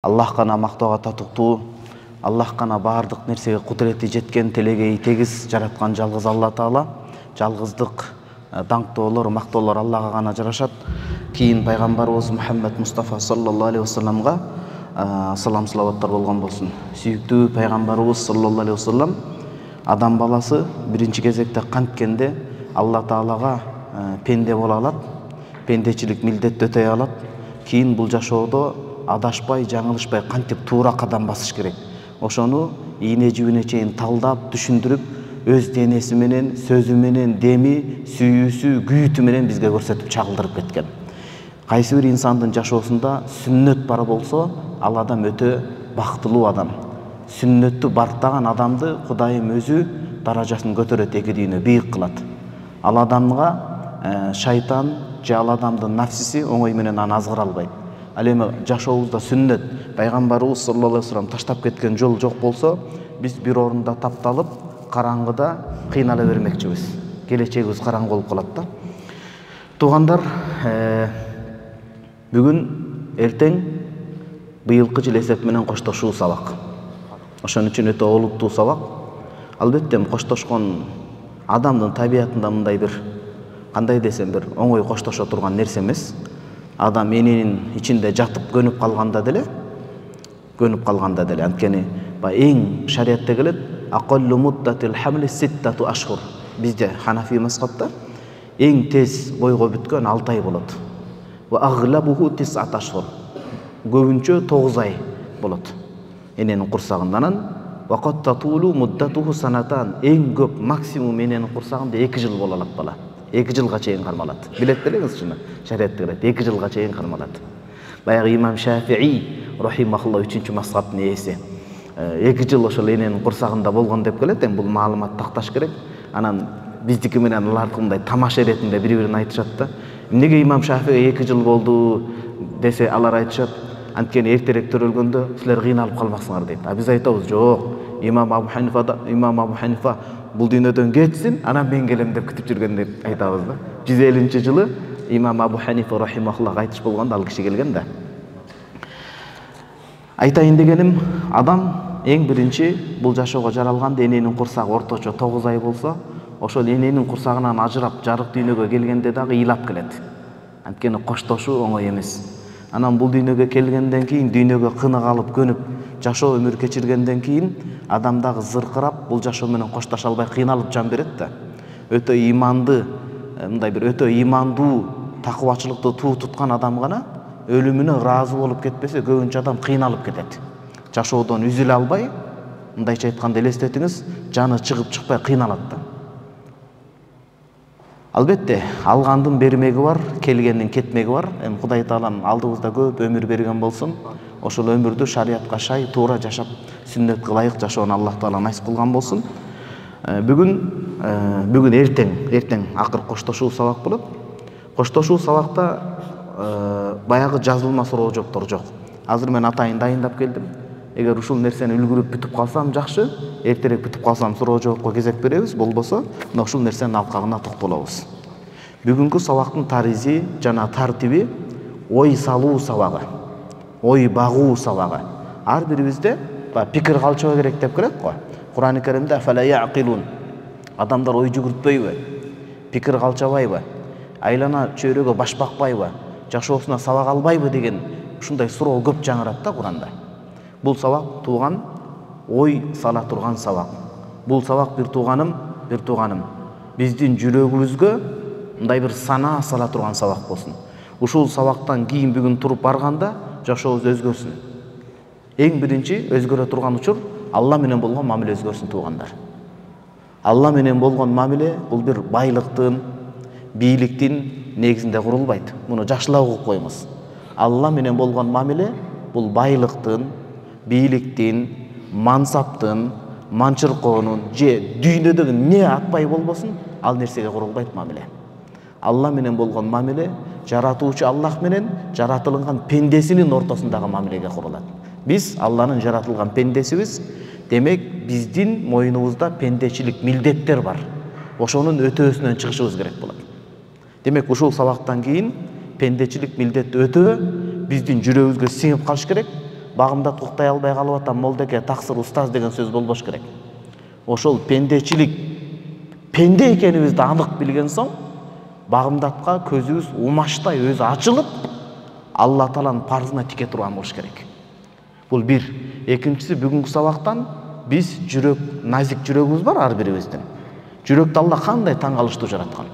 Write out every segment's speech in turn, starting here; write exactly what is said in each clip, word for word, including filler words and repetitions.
Аллах гана мактоого татыктуу, Аллах гана бардык нерсеге кудурети жеткен, телегей тегиз жараткан жалгыз Алла Таала. Жалгыздык, даңктоолор, мактоолор Аллага гана жарашат. Кийин пайгамбарыбыз Мухаммед Мустафа саллаллаху алейхи вассаламга салам салаваттар болгон болсун. Сүйүктүү пайгамбарыбыз саллаллаху алейхи вассалам адам баласы биринчи кезекте канткенде Алла Таалага пенде боло алат, пендечилик милдетти өтөй алат. Кийин бул жашоодо адашпай, жаңылышпай кантип туура кадам басыш керек. Ошону ийне жибине чейин талдап, түшүндүрүп, өз денеси менен, сөзү менен, деми, сүйүүсү, күйүтү менен бизге көрсөтүп чагылдырып кеткен. Кайсы бир инсандын жашоосунда сүннөт бар болсо, ал адам өтө бактылуу адам. Сүннөттү бартаган адамды Кудайым өзү даражасын көтөрөт, эки дүйнө бийик кылат. Ал адамга шайтан же ал адамдын нафсиси оңой менен аны азгыра албайт. Ал эми жашообузда сүннөт, пайгамбарыбыз саллаллаху алейхи вассалам таштап кеткен жол жок болсо, биз бир орунда тапталып, караңгыда кыйнала бермекчибиз. Келечегибиз караңгы болуп калат да. Туугандар, бүгүн эртең быйылкы жыл эсеп менен коштошуу сабак. Ошон үчүн өтө олуттуу сабак. Албетте коштошкон адамдын табиятында мындай бир, кандай десем, бир оңой коштошо турган нерсе эмес. Адам эненин ичинде жатып көнүп калганда деле, көнүп калганда деле, анткени эң шариатта келет, акаллу муддатил хамли ситтату ашхур. Бизде Ханафи мазхабта эң тез бойго бүткөн алты ай болот. Ва агhlабуху тис'ат ашхур. Көбүнчө тогуз ай болот эненин курсагындан. Ва кат татулу муддатуху санатан. Эң көп максимум эненин курсагында эки жыл боло алат бала. эки жылга чейин кармалат. Билет делеңиз чыны. Шариатта келет, эки жылга чейин кармалат. Баягы имам Шафии рахимахуллах үчүнчү мазхабтын ээси эки жыл ошол эненин курсагында болгон деп келет. Эми бул маалымат такташ керек. Анан биздики менен алардыкы мындай тамаша иретинде бири-бирин айтышат да. Эмнеге имам Шафии эки жыл болду десе, алар айтышат, анткени эртерээк төрөлгөндө силер кыйналып калмаксыңар дейт. А биз айтабыз, жок, имам Абу Ханифа имам Абу Ханифа бул дүйнөдөн кетсин, анан мен келем деп күтүп жүргөн деп айтабыз да. жүз элүүнчү жылы имам Абу Ханифа рахимахуллах айтыш болгондо ал киши келген да. Айтайын дегеним, адам эң биринчи бул жашоого жаралганда эненин курсагы орточо тогуз ай болсо, ошол эненин курсагынан ажырап жарык дүйнөгө келгенде дагы ыйлап келет. Анткени коштошуу оңой эмес. Анан бул дүйнөгө келгенден кийин, дүйнөгө кынык алып көнүп жашоо өмүр кечиргенден кийин адам дагы зыркырап бул жашоо менен коштоша албай кыйналып жан берет да. Өтө иманды, мындай бир өтө имандуу, такыбачылыкты туу туткан адам гана өлүмүнө ыраазы болуп кетпесе, көбүнчө адам кыйналып кетет. Жашоодон үзүлө албай, мындайча айтканда элестетиңиз, жаны чыгып чыкпай кыйналат да. Албетте, алгандын бермеги бар, келгендин кетмеги бар. Эми Кудай Таалам алдыбызда көп өмүр берген болсун. Ошол өмүрдү шариатка шай туура жашап, сүннөткө ылайык жашоону Аллах Таала насип кылган болсун. Бүгүн бүгүн эртең, эртең акыр коштошуу сабак болот. Коштошуу сабакта баягы жазылма суроо жооптор жок. Азыр мен атайын дайындап келдим. Эгер ушул нерсени үлгүрүп бүтүп калсам жакшы, эртерээк бүтүп калсам суроо жоопко кезек беребиз, болбосо мына ушул нерсенин алкагына токтолобуз. Бүгүнкү сабактын таризи жана тартиби ой салуу сабагы, ой багуу сабагы. Ар бирибизде пикир калчыба керек деп келет го. Кур'ан-ы Каримде афала яқилун. Адамдар ой жүгүртпөйбү? Пикир калчабайбы? Айлана чөйрөгө баш бакпайбы? Жашоосуна сабак албайбы деген ушундай суроо көп жаңырат да Кур'анда. Бул сабак тууган ой сала турган сабак. Бул сабак бир тууганым, бир тууганым биздин жүрөгүбүзгө мындай бир санаа сала турган сабак болсун. Ушул сабактан кийин бүгүн туруп барганда жашообуз өзгөрсүн. Эң биринчи өзгөрө турган учур Алла менен болгон мамиле өзгөрсүн туугандар. Алла менен болгон мамиле бул бир байлыктын, бийликтин негизинде курулбайт. Муну жакшылап угуп коюңуз. Алла менен болгон мамиле бул байлыктын, бийликтин, мансаптын, манчыркоонун же дүйнөдөгү эмне атпай болбосун, ал нерсеге курулбайт мамиле. Алла менен болгон мамиле жаратуучу Аллах менен жаратылган пендесинин ортосундагы мамилеге курулат. Биз Алланын жаратылган пендесибиз, демек биздин мойнубузда пендечилик милдеттер бар. Ошонун өтөөсүнөн чыгышыбыз керек болот. Демек ушул сабактан кийин пендечилик милдетти өтөө биздин жүрөгүбүзгө сиңип калыш керек. багымдат уктай албай калып атам, молдеке, таксыр, устаз деген сөз болбош керек. Ошол пендечилик, пенде экенибизди анык билген соң, багымдатка көзүбүз умаштай өзү ачылып, Алла Тааланын парзына тике турган болуш керек. Бул бир. Экинчиси, бүгүнкү сабактан биз жүрөк, назик жүрөгүбүз бар ар бирибиздин. Жүрөктү Алла кандай таң калыштуу жараткан.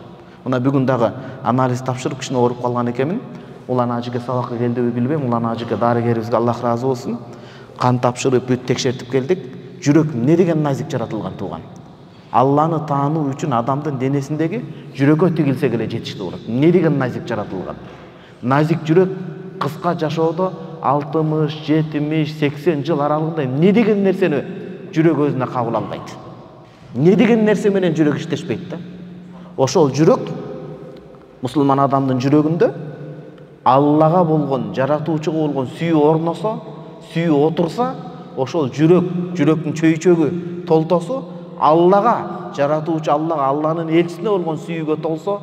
Мына бүгүн дагы анализ тапшырып кичине ооруп калган экенмин. Улан ажыга сабакка келдиби билбейм. Улан ажыга дарыгерибизге Аллах ыраазы болсун. Кан тапшырып, бүт текшертип келдик. Жүрөк эмне деген назик жаратылган тууган. Алланы таануу үчүн адамдын денесиндеги жүрөккө тигилсе эле жетиштүү болот. Эмне деген назик жаратылган. Назик жүрөк кыска жашоодо алтымыш, жетимиш, сексен жыл аралыгында эмне деген нерсени жүрөк өзүнө кабыл албайт. Эмне деген нерсе менен жүрөк иштешпейт да. Ошол жүрөк мусулман адамдын жүрөгүндө Аллага болгон, жаратуучуга болгон сүйүү орносо, сүйүү отурса, ошол жүрөк, жүрөктүн чөйчөгү толтосо, Аллага, жаратуучу Аллага, Алланын элчисине болгон сүйүүгө толсо,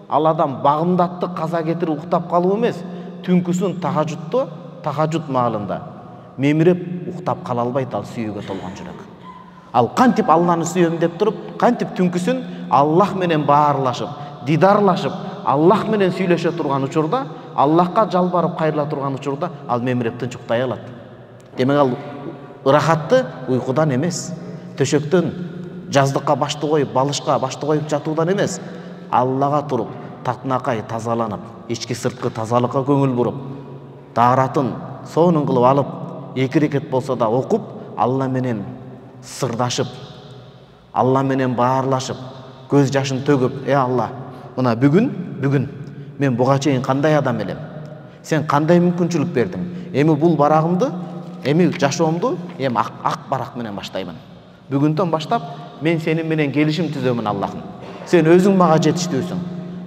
ал адам багымдатты каза кетирип уктап калуу эмес, түнкүсүн тахажутто, тахажут маалында мемиреп уктап кала албайт ал сүйүүгө толгон жүрөк. Ал кантип Алланы сүйөм деп туруп, кантип түнкүсүн Аллах менен баарлашып, дидарлашып, Аллах менен сүйлөшө турган учурда, Аллахка жалбарып кайрыла турган учурда ал мемиреп тынч уктай алат. Демек ал ырахатты уйкудан эмес, төшөктөн жаздыкка башты коюп, балышка башты коюп жатуудан эмес, Аллага туруп, татынакай тазаланып, ички сырткы тазалыкка көңүл буруп, дааратын сонун кылып алып, эки рекет болсо да окуп, Алла менен сырдашып, Алла менен баарлашып, көз жашын төгүп, "Э Алла, мына бүгүн, бүгүн мен буга чейин кандай адам элем? Сен кандай мүмкүнчүлүк бердиң? Эми бул барагымды, эми жашоомду эми ак, ак барак менен баштаймын. Бүгүндөн баштап мен сени менен келишим түзөмүн Аллахым. Сен өзүң мага жетиштүүсүң.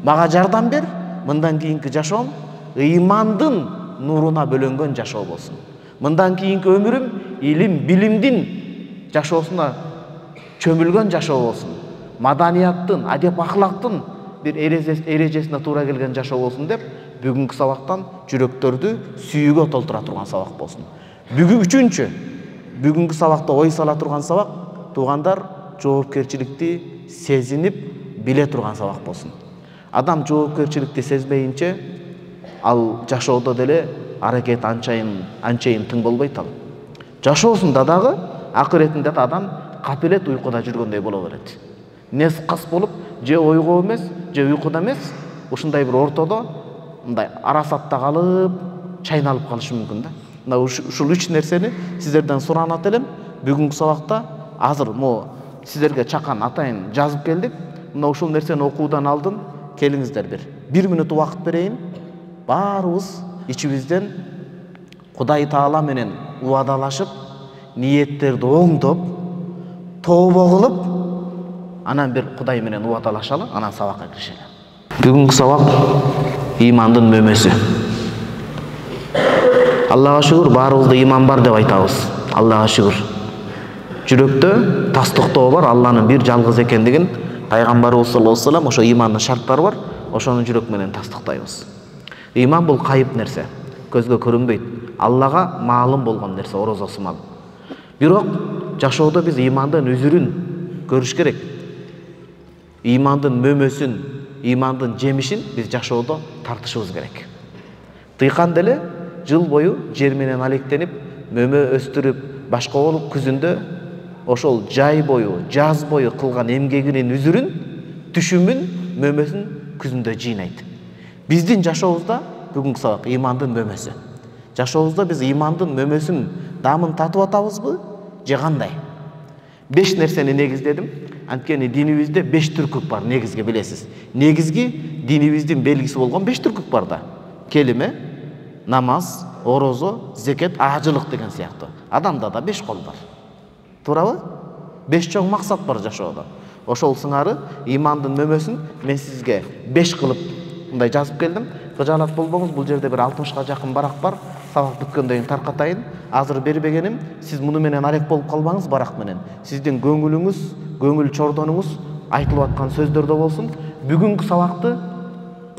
Мага жардам бер. Мындан кийинки жашоом ыймандын нуруна бөлөнгөн жашоо болсун. Мындан кийинки өмүрүм илим, билимдин жашоосуна чөмүлгөн жашоо болсун. Маданияттын, адеп ахлактын бир эрежесине туура келген жашоо болсун деп, бүгүнкү сабактан жүрөктөрдү сүйүүгө толтура турган сабак болсун. Бүгүн үчүнчү, бүгүнкү сабакта ой сала турган сабак, туугандар, жоопкерчиликти сезинип, биле турган сабак болсун. Адам жоопкерчиликти сезбейинче, ал жашоодо деле аракет анчайын, анчайын тың болбойт ал. Жашоосунда дагы, акыретинде да адам капелет уйкуда жүргөндөй боло берет. Нес кас болуп, же ойго эмес, же уйкуда эмес, ушундай бир ортодо, мындай арасатта калып, чайналып калышы мүмкүн да. Мына ушул үч нерсени сиздерден суранат элем. Бүгүнкү сабакта азыр мо сиздерге чакан атайын жазып келдик. Мына ушул нерсени окуудан алдын келиңиздер бир. Бир мүнөт убакыт берейин. Баарыбыз ичибизден Кудай Таала менен уадалашып, ниеттерди оңдоп, тообо кылып, анан бир Кудай менен уадалашалы, анан сабакка киришели. Бүгүнкү сабак имандын мөмөсү. Аллага шүгүр, баарыбызда иман бар деп айтабыз. Аллага шүгүр. Жүрөктө тастыктоо бар, Алланын бир жалгыз экендигин пайгамбарыбыз саллаллаху алейхи ва саллям ошо имандын шарттары бар, ошону жүрөк менен тастыктайбыз. Иман бул кайып нерсе, көзгө көрүнбөйт. Аллага маалым болгон нерсе, орозо сымал. Бирок жашоодо биз имандын үзүрүн көрүш керек. Имандын мөмөсүн, имандын жемишин биз жашоодо тартышыбыз керек. Тыйкан деле жыл бою жер менен алектенип, мөмө өстүрүп, башка болуп күзүндө ошол жай бою, жаз бою кылган эмгегинин үзүрүн, түшүмүн, мөмөсүн күзүндө жыйнайт. Биздин жашообузда бүгүнкү сабак имандын мөмөсү. Жашообузда биз имандын мөмөсүн дамын татып атабызбы, же кандай? Беш нерсени негиздедим. Анткени динибизде беш түркүк бар, негизги билесиз. Негизги динибиздин белгиси болгон беш түркүк бар да. Келиме, намаз, орозо, зекет, ажылык деген сыяктуу. Адамда да беш кол бар. Туурабы? Беш чоң максат бар жашоодо. Ошол сыңары имандын мөмөсүн мен сизге беш кылып мындай жазып келдим. Кыжаалат болбоңуз, бул жерде бир алтымышка жакын барак бар. Сабак бүткөндөн кийин таркатайын. Азыр бербегеним, сиз муну менен алек болуп калбаңыз барак менен. Сиздин көңүлүңүз, көңүл чордонуңуз айтылып аткан сөздөрдө болсун. Бүгүнкү сабакты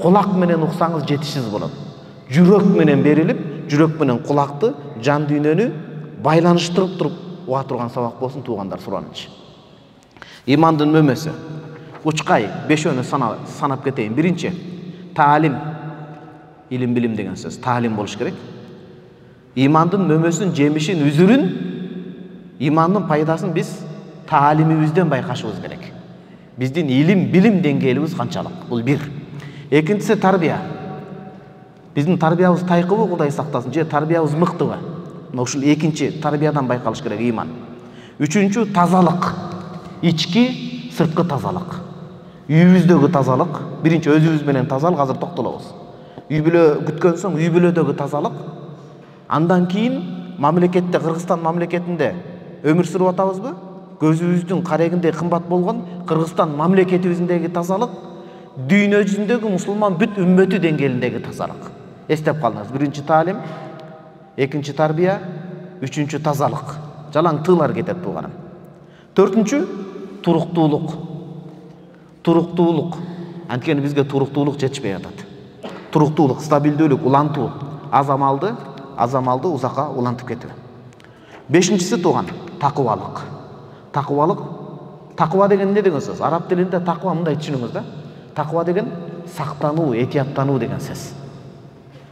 кулак менен уксаңыз жетишсиз болот. Жүрөк менен берилип, жүрөк менен кулакты, жан дүйнөнү байланыштырып туруп уга турган сабак болсун туугандар, суранычы. Имандын мөмөсү. Учкай бешөөнү санап кетейин. Биринчи, таалим. Илим билим деген сөз. Таалим болуш керек. Имандын мөмөсүн, жемишин, үзүрүн, имандын пайдасын биз таалимибизден байкашыбыз керек. Биздин илим билим деңгээлибиз канчалык? Бул бир. Экинчиси тарбия. Биздин тарбиябыз тайкыбы, Кудай сактасын, же тарбиябыз мыктыбы? Ушул экинчи тарбиядан байкалыш керек иман. Үчүнчү тазалык. Ички, сырткы тазалык. Үйүбүздөгү тазалык. Биринчи өзүбүз менен тазалык, азыр токтолобуз. Үй бүлө күткөн соң үй бүлөдөгү тазалык. Андан кийин мамлекетте, Кыргызстан мамлекетинде өмүр сүрүп атабызбы? Көзүбүздүн карегиндей кымбат болгон Кыргызстан мамлекетибиздеги тазалык, дүйнө жүзүндөгү мусулман бүт үммөтү деңгээлиндеги тазалык. Эстеп калыңыз. Биринчи таалим, экинчи тарбия, үчүнчү тазалык. Жалаң тыылар кетет тууганым. Төртүнчү туруктуулук. Туруктуулук. Анткени бизге туруктуулук жетишпей атат. Туруктуулук, стабилдүүлүк, улантуу. Аз амалды, аз амалды узакка улантып кетүү. Бешинчиси тууган такыбалык. Такыбалык. Такыба деген эмне деген сөз? Араб тилинде такыба мындай түшүнүңүз да. Такыба деген сактануу, этияттануу деген сөз.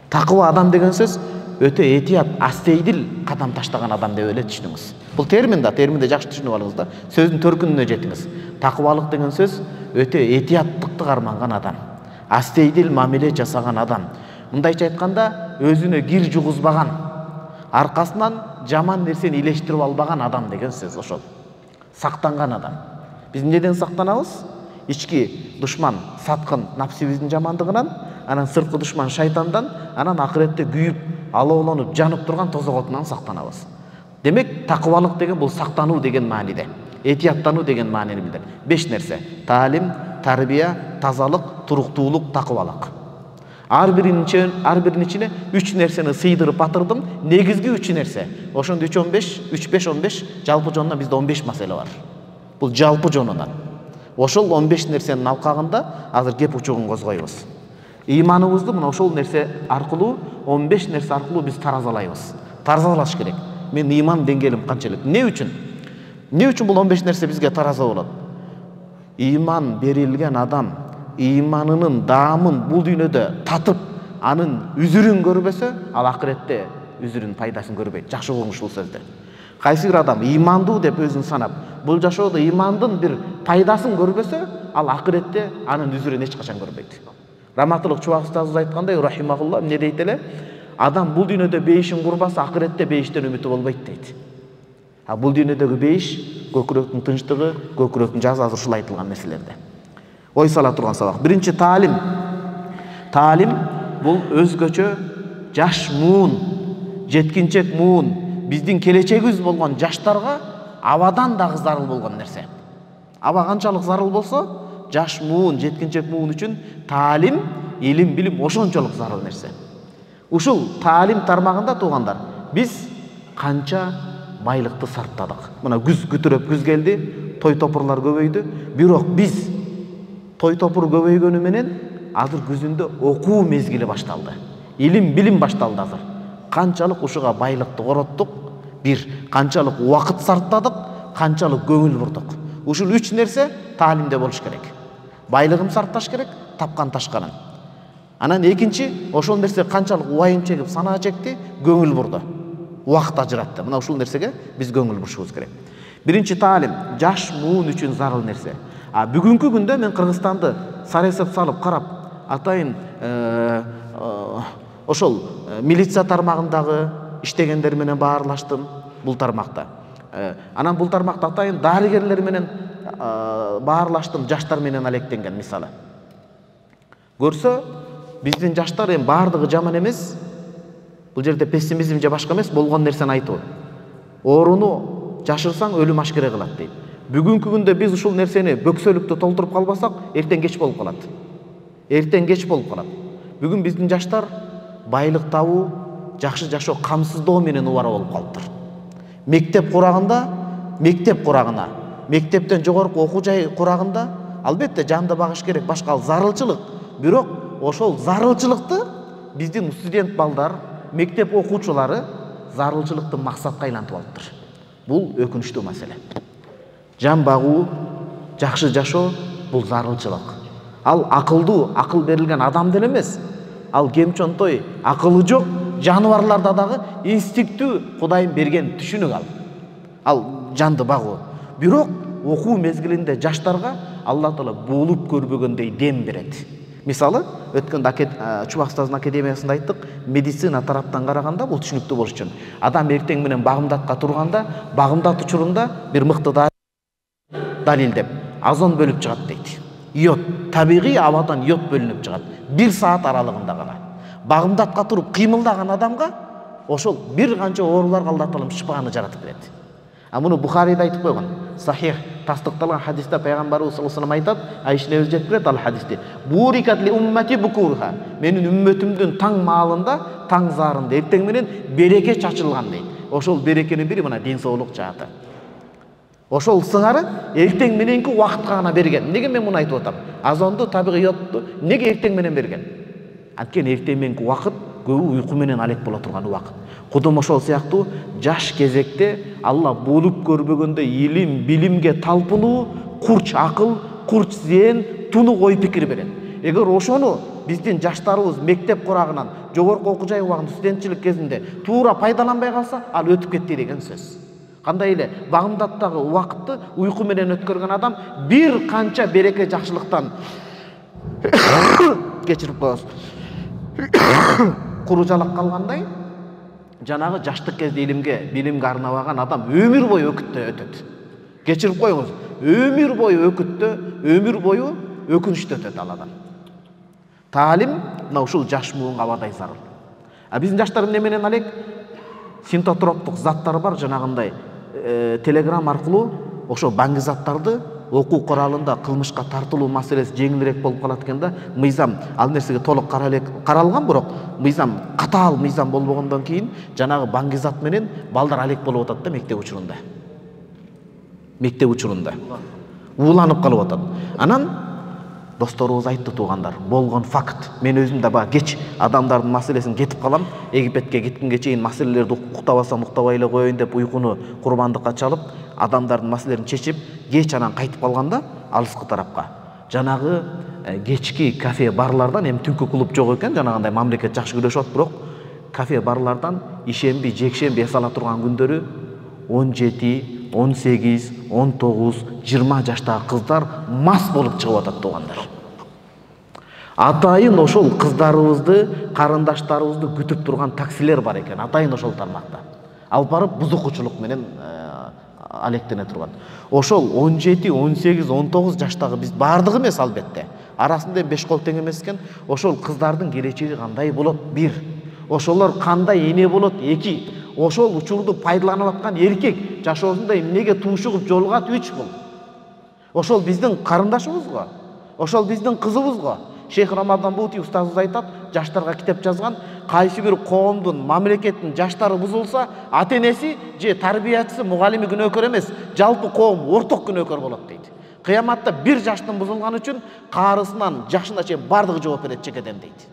Такыба адам деген сөз өтө этият, астейдил кадам таштаган адам деп эле түшүнүңүз. Бул термин да, терминди жакшы түшүнүп алыңыз да. Сөздүн төркүнүнө жетиңиз. Такыбалык деген сөз өтө этияттыкты карманган адам. Астейдил мамиле жасаган адам. Мындайча айтканда, өзүнө кир жугузбаган, аркасынан жаман нерсени илештирип албаган адам деген сөз ошол. Сактанган адам. Биз эмнеден сактанабыз? Ички душман, саткын напсибиздин жамандыгынан, анан сырткы душман шайтандан, анан акыретте күйүп, алоолонуп, жанып турган тозокотунан сактанабыз. Демек, такыбалык деген бул сактануу деген мааниде. Этияттануу деген маанини билдирет. Беш нерсе: таалим, тарбия, тазалык, туруктуулук, такыбалык. Ар биринин ар биринин ичине үч нерсени сыйдырып батырдым. Негизги үч нерсе. Ошондо үч он беш, үч беш он беш, жалпы жонунан бизде он беш маселе бар. Бул жалпы жонунан. Ошол он беш нерсенин алкагында азыр кеп учугун козгойбуз. Ыйманыбызды мына ошол нерсе аркылуу, он беш нерсе аркылуу биз таразалайбыз. Таразалаш керек. Мен ыйман деңгээлим канчалык? Эмне үчүн? Эмне үчүн бул он беш нерсе бизге тараза болот? Ыйман берилген адам ыйманынын даамын бул дүйнөдө татып, анын үзүрүн көрбөсө, ал акыретте үзүрүн пайдасын көрбөйт. Жакшы угуңуз ушул сөздү. Кайсы бир адам ыймандуу деп өзүн санап, бул жашоодо ыймандын бир пайдасын көрбөсө, ал акыретте анын үзүрүн эч качан көрбөйт. Раматылык Чубак устазыбыз айткандай, рахимахулла, эмне дейт эле? Адам бул дүйнөдө бейишин курбаса, акыретте бейиштен үмүтү болбойт дейт. А бул дүйнөдөгү бейиш, көкүрөктүн тынчтыгы, көкүрөктүн жазы, азыр ушул айтылган нерселерде. Ой сала турган сабак. Биринчи таалим. Таалим бул өзгөчө жаш муун, жеткинчек муун, биздин келечегибиз болгон жаштарга абадан дагы зарыл болгон нерсе. Аба канчалык зарыл болсо, жаш муун, жеткинчек муун үчүн таалим, илим, билим ошончолук зарыл нерсе. Ушул таалим тармагында туугандар, биз канча байлыкты сарптадык. Мына күз күтүрөп күз келди, той топурлар көбөйдү. Бирок биз той топур көбөйгөнү менен азыр күзүндө окуу мезгили башталды. Илим, билим башталды азыр. Канчалык ушуга байлыкты короттук, бир, канчалык убакыт сарптадык, канчалык көңүл бурдук. Ушул үч нерсе таалимде болуш керек. Байлыгын сарпташ керек, тапкан ташканын. Анан экинчи, ошол нерсе канчалык уайым чегип, санаа чекти, көңүл бурду. Убакыт ажыратты. Мына ушул нерсеге биз көңүл бурушубуз керек. Биринчи таалим, жаш муун үчүн зарыл нерсе. А бүгүнкү күндө мен Кыргызстанды саресеп салып карап, атайын ошол милиция тармагындагы иштегендер менен баарлаштым бул тармакта. Анан бул тармакта атайын дарыгерлер менен баарлаштым, жаштар менен алектенген мисалы. Көрсө, биздин жаштар эми баардыгы жаман эмес. Бул жерде пессимизм же башка эмес, болгон нерсени айтуу. Ооруну жашырсаң өлүм ашкере кылат дейт. Бүгүнкү күндө биз ушул нерсени бөксөлүктө толтуруп калбасак, эртең кеч болуп калат. Эртең кеч болуп калат. Бүгүн биздин жаштар байлык табуу, жакшы жашоо камсыздоо менен убара болуп калыптыр. Мектеп курагында, мектеп курагына, мектептен жогорку окуу жай курагында албетте жанды багыш керек, башка зарылчылык. Бирок ошол зарылчылыкты биздин студент балдар, мектеп окуучулары зарылчылыкты максатка айлантып алыптыр. Бул өкүнүчтүү маселе. Жан багуу, жакшы жашоо бул зарылчылык. Ал акылдуу, акыл берилген адам деле эмес. Ал кемчонтой, акылы жок жаныбарларда дагы инстинкттүү Кудайым берген түшүнүк ал. Ал жанды багуу. Бирок окуу мезгилинде жаштарга Алла Таала болуп көрбөгөндөй дем берет. Мисалы, өткөндө Чубакстаздын академиясында айттык, медицина тараптан караганда бул түшүнүктүү болуш үчүн. Адам эртең менен багымдатка турганда, багымдат учурунда бир мыкты далилдеп, озон бөлүп чыгат дейт. Йод, табигый абадан йод бөлүнүп чыгат. Бир саат аралыгында гана. Багымдатка туруп кыймылдаган адамга ошол бир канча ооруларга Алла Таала шифаны жаратып берет. А муну Бухарида айтып койгон. Сахих тастыкталган хадисте пайгамбарыбыз саллаллаху алейхи вассалам айтат, Айша энебиз жеткип берет ал хадисти. Бурикат ли уммати букурха. Менин үммөтүмдүн таң маалында, таң зарында эртең менен береке чачылган дейт. Ошол берекенин бири мына ден соолук жааты. Ошол сыңары эртең мененки убакытка гана берген. Неге мен муну айтып атам? Азонду, табигый йодду неге эртең менен берген? Анткени эртең мененки убакыт көбү уйку менен алек боло турган убакыт. Кудум ошол сыяктуу жаш кезекте Алла болуп көрбөгөндө илим, билимге талпынуу, курч акыл, курч зээн, тунук ой пикир берет. Эгер ошону биздин жаштарыбыз мектеп курагынан, жогорку окуу жай убагында, студентчилик кезинде туура пайдаланбай калса, ал өтүп кетти деген сөз. Кандай эле багымдаттагы убакытты уйку менен өткөргөн адам бир канча береке жакшылыктан кечирип коебуз. Куружалак калгандай, жанагы жаштык кезде илимге, билимге арнабаган адам өмүр бою өкүттө өтөт. Кечирип коюңуз, өмүр бою өкүттө, өмүр бою өкүнүчтө өтөт ал адам. Таалим мына ушул жаш муунга абадай зарыл. А биздин жаштар эмне менен алек? Синтотроптук заттар бар, жанагындай телеграм аркылуу ошо баңгы заттарды окуу куралында кылмышка тартылуу маселеси жеңилирээк болуп калат экен да. Мыйзам ал нерсеге толук каралган, бирок мыйзам катаал мыйзам болбогондон кийин жанагы баңгы зат менен балдар алек болуп атат да мектеп учурунда. Мектеп учурунда ууланып калып атат. Анан досторубуз айтты, туугандар, болгон факт. Мен өзүм да баа кеч адамдардын маселесин кетип калам. Египетке кеткенге чейин маселелерди уктабасам уктабай эле коеюн деп уйкуну курбандыкка чалып, адамдардын маселелерин чечип, кеч анан кайтып калганда алыскы тарапка. Жанагы кечки кафе барлардан, эми түнкү клуб жок экен, жанагындай мамлекет жакшы күрөшүп атат, бирок кафе барлардан ишемби, жекшемби эс ала турган күндөрү он жети, он сегиз, он тогуз, жыйырма жаштагы кыздар мас болуп чыгып атат, туугандар. Атайын ошол кыздарыбызды, карындаштарыбызды күтүп турган таксилер бар экен, атайын ошол тармакта. Алып барып бузукучулук менен алектене турган. Ошол он жети, он сегиз, он тогуз жаштагы биз бардыгы эмес албетте. Арасында беш кол тең эмес экен. Ошол кыздардын келечеги кандай болот? бир. Ошолор кандай эне болот? эки. Ошол учурду пайдаланып аткан эркек жашоосунда эмнеге туушугуп жолугат? үч бул. Ошол биздин карындашыбызго, ошол биздин кызыбызго. Шейх Рамадан Бути устазыбыз айтат, жаштарга китеп жазган, кайсы бир коомдун, мамлекеттин жаштары бузулса, ата-энеси же тарбиячысы, мугалими күнөөкөр эмес, жалпы коом орток күнөөкөр болот дейт. Кыяматта бир жаштын бузулганы үчүн каарысынан жашына чейин бардыгы жооп берет чекеден дейт.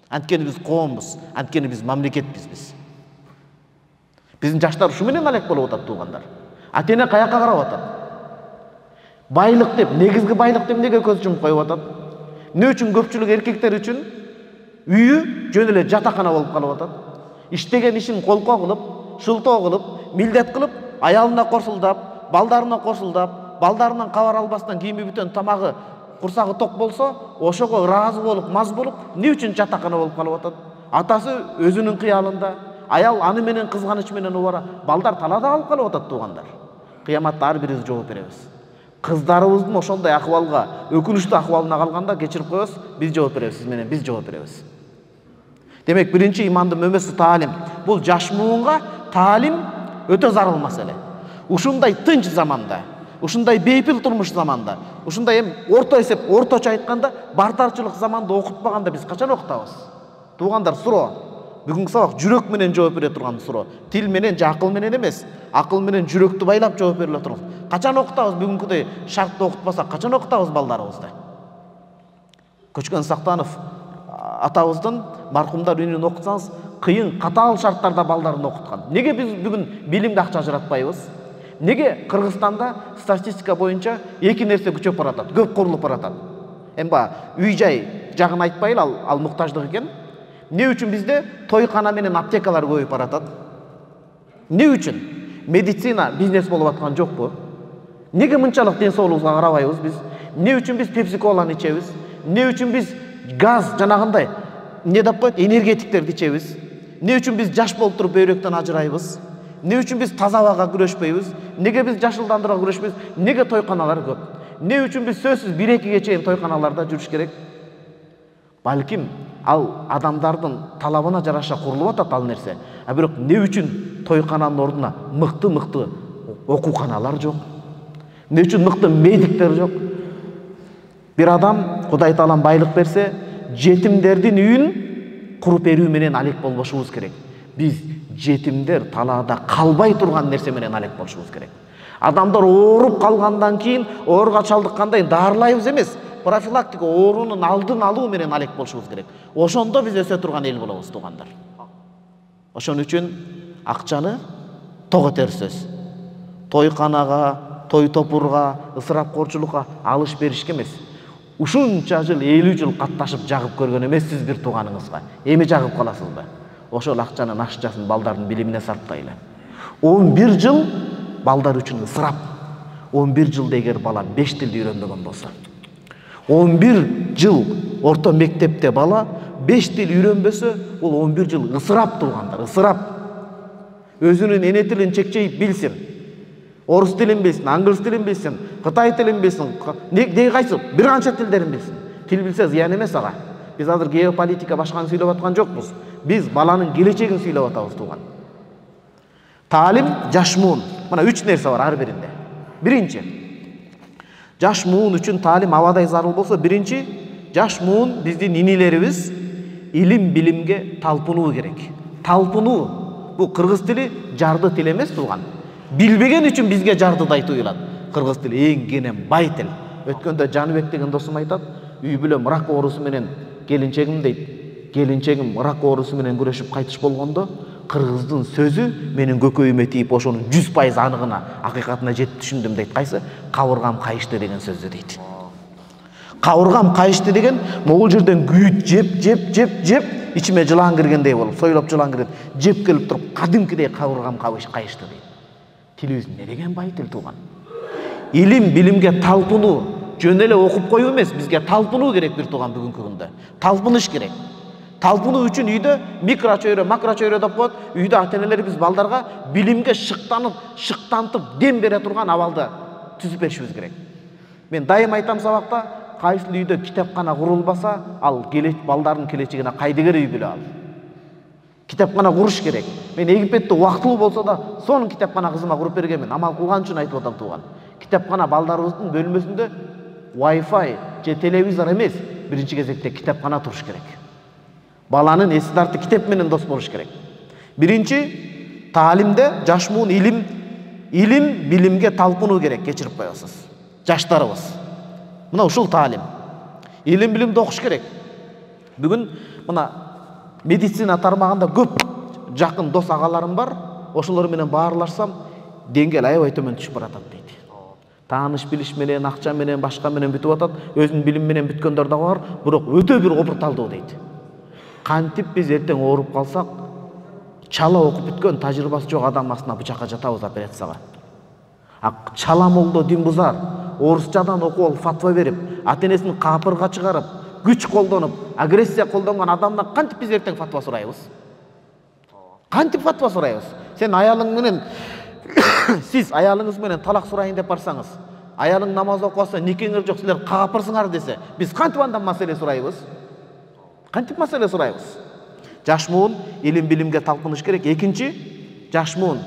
Анткени биз коомбуз, анткени биз мамлекетпиз биз. Биздин жаштар ушу менен алек болуп атат, туугандар. Ата-эне каяка карап атат? Байлык деп, негизги байлык деп эмнеге көз жумуп коюп атат? Эмне үчүн көпчүлүк эркектер үчүн үйү жөн эле жатакана болуп калып атат? Иштеген ишин колко кылып, шылтоо кылып, милдет кылып, аялына кошулдап, балдарына кошулдап, балдарынан кабар албастан кийими бүтөн тамагы, курсагы ток болсо, ошого ыраазы болуп, маз болуп, эмне үчүн жатакана болуп калып атат? Атасы өзүнүн кыялында, аял аны менен кызганыч менен убара, балдар талаада калып калып атат, туугандар. Кыяматта ар бирибиз жооп беребиз. Кыздарыбыздын ошондой акыбалга, өкүнүчтүү акыбалына калганда кечирип коебуз, биз жооп беребиз, сиз менен биз жооп беребиз. Демек, биринчи имандын мөмөсү таалим. Бул жаш муунга таалим өтө зарыл маселе. Ушундай тынч заманда, ушундай бейпил турмуш заманда, ушундай эми орто эсеп, орточо айтканда, бартарчылык заманда окутпаганда биз качан окутабыз? Туугандар, суроо. Бүгүнкү сабак жүрөк менен жооп бере турган суроо. Тил менен же акыл менен эмес, акыл менен жүрөктү байлап жооп бериле турат. Качан окутабыз бүгүнкүдөй шартты окутпасак, качан окутабыз балдарыбызды? Көчкөн Сактанов атабыздын маркумдар үнүн окусаңыз, кыйын катаал шарттарда балдарын окуткан. Неге биз бүгүн билимге акча ажыратпайбыз? Неге Кыргызстанда статистика боюнча эки нерсе күчөп баратат, көп курулуп баратат? Эми үй-жай жагын айтпайлы, ал, ал муктаждык экен. Не үчүн бизде тойкана менен аптекалар көбөйүп баратат? Не үчүн? Медицина бизнес болуп аткан жокпу? Неге мынчалык ден соолугубузга карабайбыз биз? Не үчүн биз пепси-коланы ичебиз? Не үчүн биз газ жанагындай не деп коет, энергетиктерди ичебиз? Не үчүн биз жаш болуп туруп бөйрөктөн ажырайбыз? Не үчүн биз таза абага күрөшпөйбүз? Неге биз жашылдандырууга күрөшпөйбүз? Неге тойканалар көп? Не үчүн биз сөзсүз бир экиге чейин тойканаларда жүрүш керек? Балким ал адамдардын талабына жараша курулуп атат ал нерсе. А бирок не үчүн тойкананын ордуна мыкты-мыкты окууканалар жок? Не үчүн мыкты медиктер жок? Бир адам Кудай Таалам байлык берсе, жетимдердин үйүн куруп берүү менен алек болбошубуз керек. Биз жетимдер талаада калбай турган нерсе менен алек болушубуз керек. Адамдар ооруп калгандан кийин ооруга чалдыккандай дарылайбыз эмес, профилактика оорунун алдын алуу менен алек болушубуз керек. Ошондо биз өсө турган эл болобуз, туугандар. Ошон үчүн акчаны ток этер сөз. Тойканага, той топурга, ысырапкорчулукка, алыш беришке эмес. Ушунча жыл, элүү жыл катташып жагып көргөн эмессиз бир тууганыңызга. Эми жагып каласызбы? Ошол акчанын ашчасын балдардын билимине сарптайлы. он бир жыл балдар үчүн ысырап. он бир жылда эгер бала беш тилди үйрөнбөгөн болсо, он бир жыл орто мектепте бала беш тил үйрөнбөсө, бул он бир жыл ысырап, туугандар, ысырап. Өзүнүн эне тилин чекчейип билсин. Орус тилин билсин, англис тилин билсин, кытай тилин билсин, деги кайсы? Бир канча тилдерин билсин. Тил билсе зыян эмес ага. Биз азыр геополитика башканы сүйлөп аткан жокпуз. Биз баланын келечегин сүйлөп атабыз, тууган. Таалим, жаш муун. Мына үч нерсе бар ар биринде. Биринчи, жаш муун үчүн таалим абадай зарыл болсо, биринчи, жаш муун биздин инилерибиз илим билимге талпынуу керек. Талпынуу. Бул кыргыз тили жарды тил эмес, тууган. Билбеген үчүн бизге жардыдай туюлат. Кыргыз тили эң кенен бай тил. Өткөндө Жаныбек деген досум айтат, үй бүлөм рак оорусу менен келинчегим дейт. Келинчегим рак оорусу менен күрөшүп кайтыш болгондо, кыргыздын сөзү менин көкөйүмө тийип, ошонун жүз пайыз аныгына, акыйкатына жетип түшүндүм дейт. Кайсы? Кабыргам кайышты деген сөздү дейт. Кабыргам кайышты деген, могул жерден күйүт жеп, жеп, жеп, жеп, ичиме жылан киргендей болуп, сойлоп жылан кирет, жеп келип туруп, кадимкидей кабыргам кайышты дейт. Тилибиз не деген бай тил, тууган. Илим билимге талпынуу, жөн эле окуп коюу эмес, бизге талпынуу керек бир тууган бүгүнкү күндө. Талпыныш керек. Талпынуу үчүн үйдө микро чөйрө, макро чөйрө деп коет. Үйдө ата-энелер биз балдарга билимге шыктанып, шыктантып дем бере турган абалды түзүп беришибиз керек. Мен дайым айтам сабакта, кайсы үйдө китепкана курулбаса, ал келеч балдардын келечегине кайдыгер үй бүлө ал. Китепкана куруш керек. Мен Египетте убактылуу болсо да, сонун китепкана кызыма куруп бергенмин. Амал кылган үчүн айтып атам, тууган. Китепкана балдарыбыздын бөлмөсүндө Wi-Fi же телевизор эмес, биринчи кезекте китепкана туруш керек. Баланын эси тарты китеп менен дос болуш керек. Биринчи, таалимде жаш муун илим, илим билимге талпынуу керек, кечирип коесуз. Жаштарыбыз. Мына ушул таалим. Илим билимди окуш керек. Бүгүн мына медицина тармагында көп жакын дос агаларым бар. Ошолор менен баарлашсам, деңгел аябай төмөн түшүп баратат дейт. Тааныш билиш менен, акча менен, башка менен бүтүп атат. Өзүнүн билим менен бүткөндөр да бар, бирок өтө бир опурталдуу дейт. Кантип биз эртең ооруп калсак, чала окуп бүткөн тажрыйбасы жок адам астына бычакка жатабыз операцияга. А чала молдо дин бузар, орусчадан окуп алып фатва берип, ата-энесин капырга чыгарып, күч колдонуп, агрессия колдонгон адамдан кантип биз эртең фатва сурайбыз? Кантип фатва сурайбыз? Сен аялың менен сиз аялыңыз менен талак сурайын деп барсаңыз, аялың намаз окубаса, никеңер жок, силер капырсыңар десе, биз кантип андан маселе сурайбыз? Кантип маселе сурайбыз? Жаш муун илим билимге талпыныш керек. Экинчи, жаш муун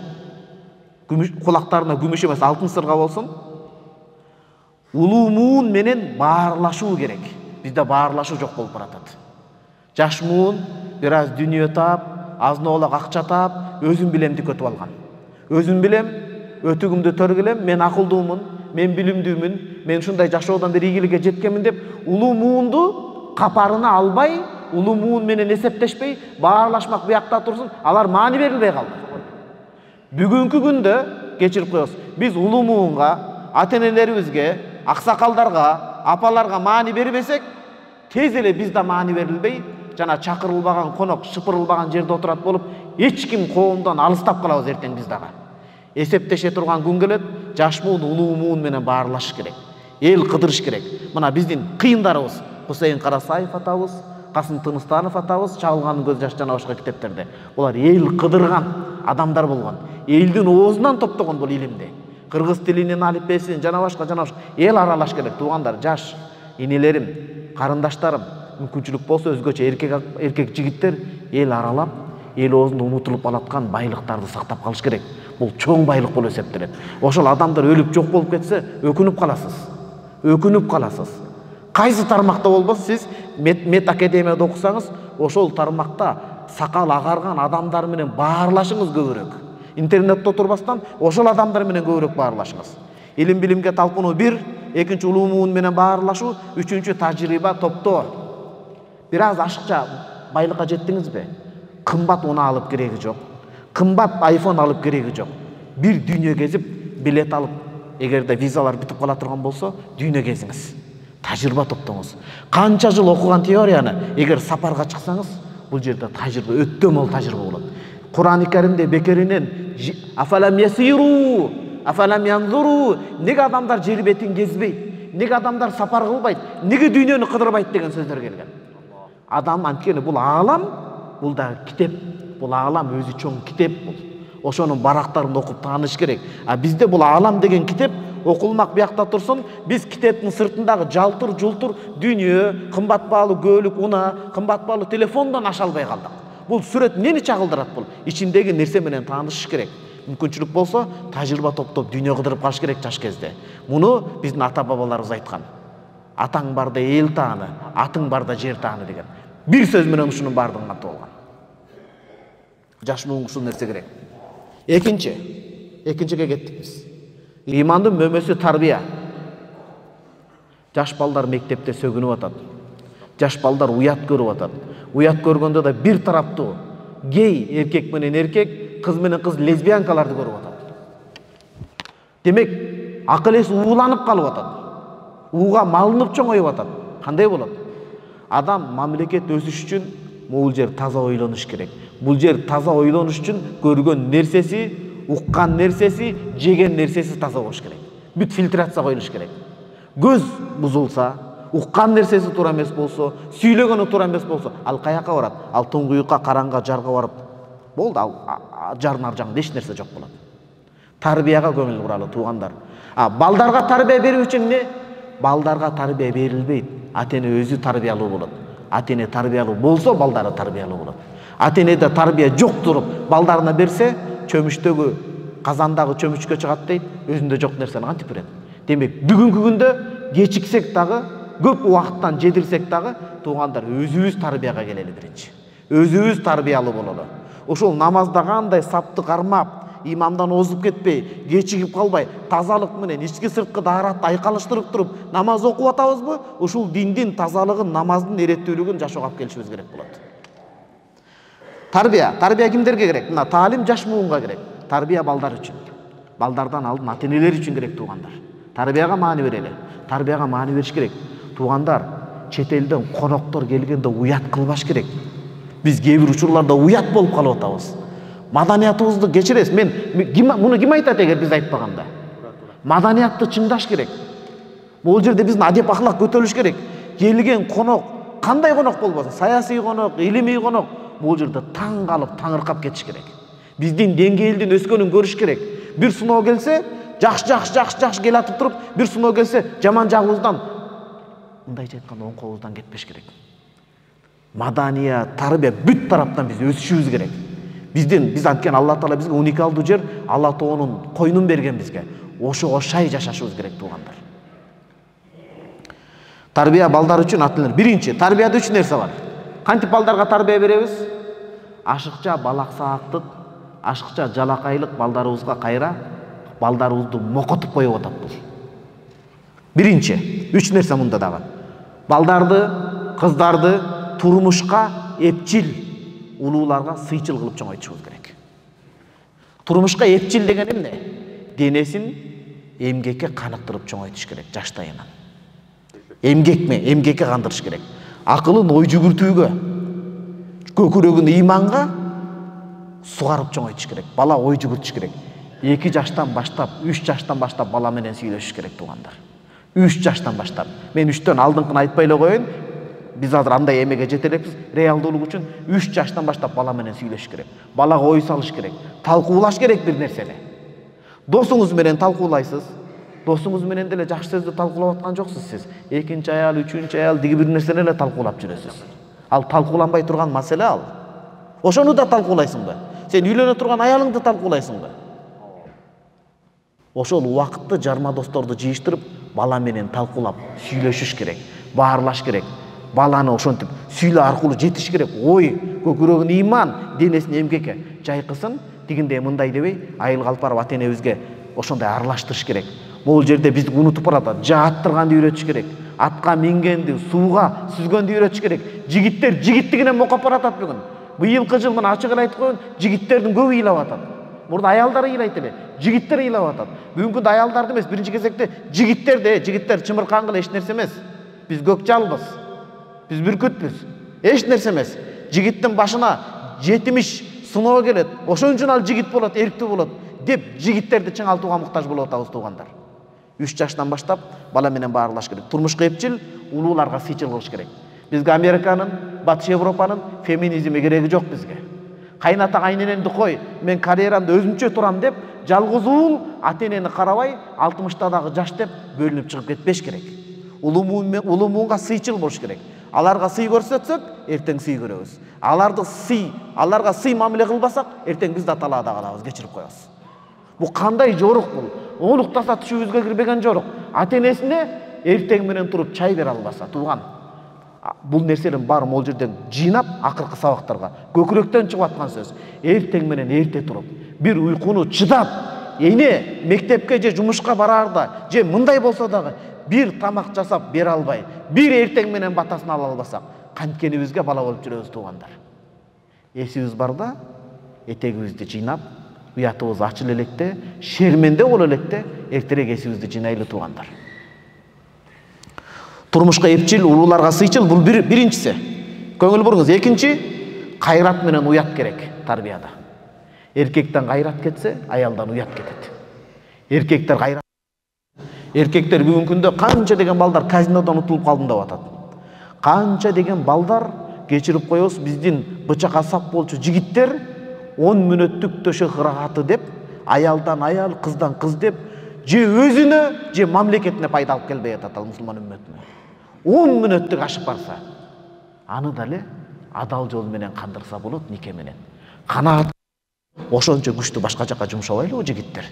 кулактарына күмүш эмес, алтын сырга болсун. Улуу муун менен баарлашуу керек. Бизде баарлашуу жок болуп баратат. Жаш муун бир аз дүнүйө таап, азын-оолак акча таап, өзүн билемди көтүп алган. Өзүм билем, өтүгүмдү төргүлем, мен акылдуумун, мен билимдүүмүн, мен ушундай жашоодон бери ийгиликке жеткенмин деп улуу муунду капарына албай, улуу муун менен эсептешпей баарлашмак буякта турсун, алар маани берилбей калды. Бүгүнкү күндө кечирип коебуз, биз улуу муунга, ата-энелерибизге, аксакалдарга, апаларга маани бербесек, тез эле бизде маани берилбей, жана чакырылбаган конок, шыпырылбаган жерде отурат болуп, эч ким коомдон алыстап калабыз эртең биз дагы. Эсептеше турган күн келет, жаш муун улуу муун менен баарлашыш керек. Эл кыдырыш керек. Мына биздин кыйындарыбыз, Хусейин Карасаев атабыз, Касым Тыныстанов атабыз Чагылгандын көз жаш жана башка китептерде. Булар эл кыдырган адамдар болгон. Элдин оозунан топтогон бул илимди. Кыргыз тилинин алифбесин жана башка жана башка эл аралаш керек. Туугандар, жаш инелерим, карындаштарым, мүмкүнчүлүк болсо өзгөчө эркек эркек жигиттер эл аралап, эл оозунда унутулуп калаткан байлыктарды сактап калыш керек. Бул чоң байлык болуп эсептелет. Ошол адамдар өлүп жок болуп кетсе, өкүнүп каласыз. Өкүнүп каласыз. Кайсы тармакта болбосо сиз мет академияда окусаңыз, ошол тармакта сакал агарган адамдар менен баарлашыңыз көбүрөөк. Интернетте отурбастан ошол адамдар менен көбүрөөк баарлашыңыз. Илим билимге талпынуу бир, экинчи улуу муун менен баарлашуу, үчүнчү тажрыйба топтоо. Бир аз ашыкча байлыкка жеттиңизби? Кымбат унаа алып кереги жок. Кымбат айфон алып кереги жок. Бир дүйнө кезип, билет алып, эгерде визалар бүтүп кала турган болсо, дүйнө кезиңиз. Тажрыйба топтоңуз. Канча жыл окуган теорияны эгер сапарга чыксаңыз, бул жерде тажрыйба өтө мол тажрыйба болот. Кур'ан-ы Каримде бекеринен афалам ясиру, афалам янзуру, неге адамдар жер бетин кезбейт, неге адамдар сапар кылбайт, неге дүйнөнү кыдырбайт деген сөздөр келген. Адам анткени бул аалам, бул да китеп, бул аалам өзү чоң китеп бул. Ошонун барактарын окуп тааныш керек. А бизде бул аалам деген китеп окулмак буякта турсун, биз китептин сыртындагы жалтыр жултур дүйнө, кымбат баалуу көлүк, унаа, кымбат баалуу телефондон аша албай калдык. Бул сүрөт эмнени чагылдырат бул? Ичиндеги нерсе менен таанышыш керек. Мүмкүнчүлүк болсо, тажрыйба топтоп дүйнө кыдырып калыш керек жаш кезде. Муну биздин ата-бабаларыбыз айткан. Атаң барда эл тааны, атың барда жер тааны деген. Бир сөз менен ушунун бардыгын кантып болгон. Жаш муунга ушул нерсе керек. Экинчи, экинчиге кеттик биз. Имандын мөмөсү тарбия. Жаш балдар мектепте сөгүнүп атат. Жаш балдар уят көрүп атат. Уят көргөндө да бир тараптуу гей эркек менен эркек, кыз менен кыз лесбиянкаларды көрүп атат. Демек, акыл эс ууланып калып атат. Ууга малынып чоңоюп атат. Кандай болот? Адам мамлекет өсүш үчүн бул жер таза ойлонуш керек. Бул жер таза ойлонуш үчүн көргөн нерсеси, уккан нерсеси, жеген нерсеси таза болуш керек. Бүт фильтрация коюлуш керек. Көз бузулса, уккан нерсеси туура эмес болсо, сүйлөгөнү туура эмес болсо, ал каяка барат? Ал туңгуюкка, караңга, жарга барып, болду, ал жардын ар жагында эч нерсе жок болот. Тарбияга көңүл буралы, туугандар. А балдарга тарбия берүү үчүн эмне? Балдарга тарбия берилбейт. Ата-эне өзү тарбиялуу болот. Ата-эне тарбиялуу болсо, балдары тарбиялуу болот. Ата-энеде тарбия жок туруп, балдарына берсе, чөмүчтөгү казандагы чөмүчкө чыгат дейт, өзүндө жок нерсени кантип берет? Демек, бүгүнкү күндө кечиксек дагы, көп убакыттан жедирсек дагы, туугандар, өзүбүз тарбияга келели биринчи. Өзүбүз тарбиялуу бололу. Ошол намазда кандай сапты кармап, имамдан озуп кетпей, кечигип калбай, тазалык менен ички сырткы дааратты айкалыштырып туруп намаз окуп атабызбы? Ушул диндин тазалыгын, намаздын эреттүүлүгүн жашоого алып келишибиз керек болот. Тарбия, тарбия кимдерге керек? Мына таалим жаш муунга керек. Тарбия балдар үчүн. Балдардан алдын ата-энелер үчүн керек, туугандар. Тарбияга маани берели. Тарбияга маани бериш керек. Туугандар, чет элден коноктор келгенде уят кылбаш керек. Биз кээ бир учурларда уят болуп калып атабыз. Маданиятыбызды кечиресиз. Мен муну ким айтат эгер биз айтпаганда? Маданиятты чыңдаш керек. Бул жерде биздин адеп ахлак көтөрүлүш керек. Келген конок, кандай конок болбосун, саясий конок, илимий конок, бул жерде таң калып, таңыркап кетиш керек. Биздин деңгээлдин өскөнүн көрүш керек. Бир сыноо келсе, жакшы жакшы жакшы жакшы кел атып туруп, бир сыноо келсе, жаман жагыбыздан, мындайча айтканда, оң колубуздан кетпеш керек. Мадания, тарбия бүт тараптан биз өсүшүбүз керек. Биздин биз анткени Алла Таала бизге уникалдуу жер, Алла Тоонун койнун берген бизге. Ошого шай жашашыбыз керек, туугандар. Тарбия балдар үчүн ата-энелер. Биринчи, тарбияда үч нерсе бар. Кантип балдарга тарбия беребиз? Ашыкча балаксаактык, ашыкча жалакайлык балдарыбызга кайра балдарыбызды мокотуп коюп атат бул. Биринчи, үч нерсе мында дагы. Балдарды, кыздарды турмушка эпчил, улууларга сыйчыл кылып чоңойтушубуз керек. Турмушка эпчил деген эмне? Денесин эмгекке каныктырып чоңойтуш керек жаштайынан. Эмгекме, эмгекке кандырыш керек. Акылын ой жүгүртүүгө, көкүрөгүн ыйманга сугарып чоңойтуш керек. Бала ой жүгүртүш керек. эки жаштан баштап, үч жаштан баштап бала менен сүйлөшүш керек туугандар. үч жаштан баштап. Мен үчтөн алдыңкын айтпай эле коеюн. Биз азыр андай эмеге жете элекпиз. Реалдуулук үчүн үч жаштан баштап бала менен сүйлөшүш керек. Балага ой салыш керек. Талкуулаш керек бир нерсени. Досуңуз менен талкуулайсыз. Досуңуз менен деле жакшы сөздү талкуулап аткан жоксуз сиз. Экинчи аял, үчүнчү аял диги бир нерсени эле талкуулап жүрөсүз. Ал талкууланбай турган маселе ал. Ошону да талкуулайсыңбы? Сен үйлөнө турган аялыңды талкуулайсыңбы? Ошол убакытты жарма досторду жыйыштырып, бала менен талкуулап сүйлөшүш керек, баарлаш керек. Баланы ошентип сүйлөө аркылуу жетиш керек. Ой, көкүрөгүн ыйман, денесин эмгекке жайкысын, тигинде мындай дебей, айыл калпарып ата энебизге ошондой аралаштырыш керек. Бул жерде бизди унутуп баратат. Жааттырганды үйрөтүш керек. Атка мингенди, сууга сүзгөндү үйрөтүш керек. Жигиттер жигиттигинен мокоп баратат бүгүн. Быйылкы жыл мына ачык эле айтып коеюн, жигиттердин көбү ыйлап атат. Мурда аялдар ыйлайт эле, жигиттер ыйлап атат. Бүгүнкү күндө аялдарды эмес, биринчи кезекте жигиттерди, жигиттер чымыркангыла эч нерсе эмес. Биз көк жалбыз. Биз бүркүтпүз. Эч нерсе эмес. Жигиттин башына жетимиш сыноо келет. Ошон үчүн ал жигит болот, эрктүү болот деп жигиттерди чыңалтууга муктаж болуп атабыз туугандар. үч жаштан баштап бала менен баарлаш керек. Турмушка эпчил, улууларга сыйчыл кылыш керек. Бизге Американын, Батыш Европанын феминизми кереги жок бизге. Кайната кайненемди кой, мен карьерамды өзүмчө турам деп, жалгыз уул ата энени карабай, алтымыштадагы жаш деп бөлүнүп чыгып кетпеш керек. Улуу муунга сыйчыл болуш керек. Аларга сый көрсөтсөк, эртең сый көрөбүз. Аларды сый, аларга сый мамиле кылбасак, эртең биз да талаада калабыз, кечирип коебуз. Бул кандай жорук бул? Оңлуктаса түшүбүзгө кирбеген жорук. Ата энесине эртең менен туруп чай бере албаса, тууган. Бул нерселердин баары могул жерден жыйнап, акыркы сабактарга көкүрөктөн чыгып аткан сөз. Эртең менен эрте туруп, бир уйкуну чыдап, эне мектепке же жумушка бараарда, же мындай болсо дагы бир тамак жасап бере албай, бир эртең менен батасын ала албасак, канткенибизге бала болуп жүрөбүз туугандар. Эсибиз барда, этегибизди жыйнап, уятыбыз ачыл электе, шерменде боло электе, эртерээк эсибизди жыйнайлы туугандар. Турмушка эпчил, улууларга сыйчыл, бул бир биринчиси. Көңүл буруңуз. Экинчи, кайрат менен уят керек тарбияда. Эркектен кайрат кетсе, аялдан уят кетет. Эркектер кайрат. Эркектер бүгүнкү күндө канча деген балдар казинодон утулуп калдым деп атат. Канча деген балдар, кечирип коебуз, биздин бычакка сап болчу жигиттер он мүнөттүк төшөк ырахаты деп, аялдан аял, кыздан кыз деп, же өзүнө, же мамлекетине пайда алып келбей атат ал мусулман үммөтүнө. он мүнөттүк ашып барса, аны дале адал жол менен кандырса болот, нике менен. Канаат ошончо күчтүү башка жака жумшабайлыбы жигиттер?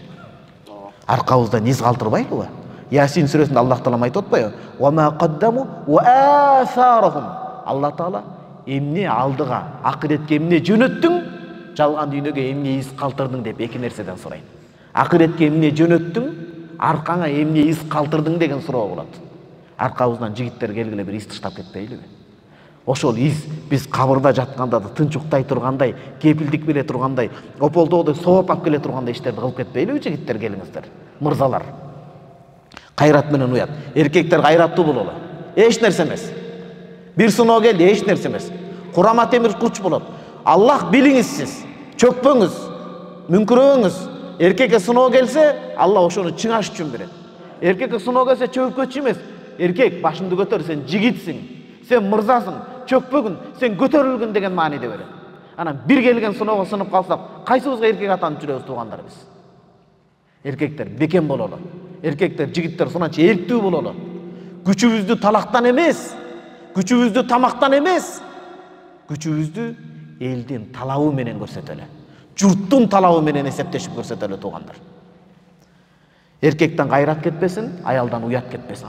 Аркабыздан из калтырбайлыбы? Ясин сүрөсүндө Аллах Таала айтып атпайбы? Ва ма каддаму ва асарахум. Аллах Таала эмне алдыга, акыретке эмне жөнөттүң, жалган дүйнөгө эмне из калтырдың деп эки нерседен сурайт. Акыретке эмне жөнөттүң, аркаңа эмне из калтырдың деген суроо болот. Аркабыздан жигиттер келгиле бир из таштап кетпейлиби? Ошол из биз кабырда жатканда да тынч уктай тургандай, кепилдик бере тургандай, ополдоодой сооп алып келе тургандай иштерди кылып кетпейлиби жигиттер, келиңиздер, мырзалар. Кайрат менен уят. Эркектер кайраттуу бололу. Эч нерсе эмес. Бир сыноо келди, эч нерсе эмес. Курама темир курч болот. Аллах билиңиз сиз. Чөкпөңүз, мүңкүрөбөңүз. Эркекке сыноо келсе, Алла ошону чыңаш үчүн берет. Эркекке сыноо келсе чөккөчү эмес. Эркек башыңды көтөр, сен жигитсиң, сен мырзасың, чөкпөгүн, сен көтөрүлгүн деген мааниде берет. Анан бир келген сыноого сынып калсак, кайсыбызга эркек атанып жүрөбүз туугандар биз? Эркектер бекем бололу. Эркектер, жигиттер сонанча эрктүү бололу. Күчүбүздү талактан эмес, күчүбүздү тамактан эмес, күчүбүздү элдин талабы менен көрсөтөлү. Журттун талабы менен эсептешип көрсөтөлү туугандар. Эркектен кайрат кетпесин, аялдан уят кетпесин.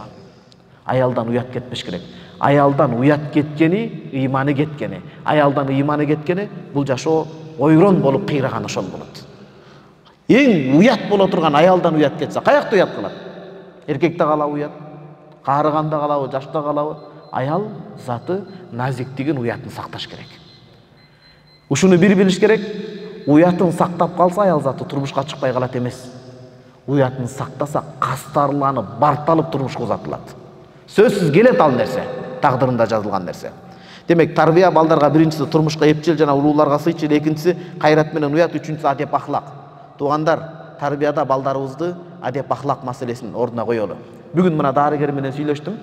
Аялдан уят кетпеш керек. Аялдан уят кеткени, ыйманы кеткени. Аялдан ыйманы кеткени, бул жашоо ойрон болуп кыйраган ошол болот. Эң уят боло турган аялдан уят кетсе, каякта уят кылат? Эркекте калабы уят? Каарыганда калабы, жашта калабы? аял заты назиктигин, уятын сакташ керек. Ушуну бир билиш керек. Уятын сактап калса аял заты турмушка чыкпай калат эмес. Уятын сактаса кастарланып, барталып турмушка узатылат. Сөзсүз келет ал нерсе, тагдырында жазылган нерсе. Демек, тарбия балдарга биринчиси турмушка эпчил жана улууларга сыйчыл, экинчиси кайрат менен уят, үчүнчүсү адеп ахлак. Туугандар, тарбияда балдарыбызды адеп ахлак маселесин ордуна коелу. Бүгүн мына дарыгер менен сүйлөштүм.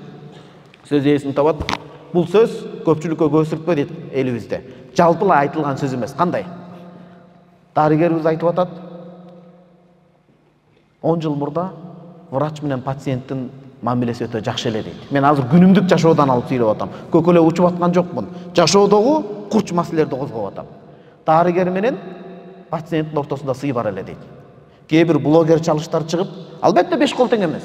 Сөз ээсин табат. Бул сөз көпчүлүккө көсүртпө дейт элибизде. Жалпылай айтылган сөз эмес. Кандай? Дарыгерибиз айтып атат. он жыл мурда врач менен пациенттин мамилеси өтө жакшы эле дейт. Мен азыр күнүмдүк жашоодон алып сүйлөп атам. Көкөлө учуп аткан жокмун. Жашоодогу курч маселелерди козгоп атам. Дарыгер менен пациенттин ортосунда сый бар эле дейт. Кээ бир блогер чалыштар чыгып, албетте беш кол тең эмес.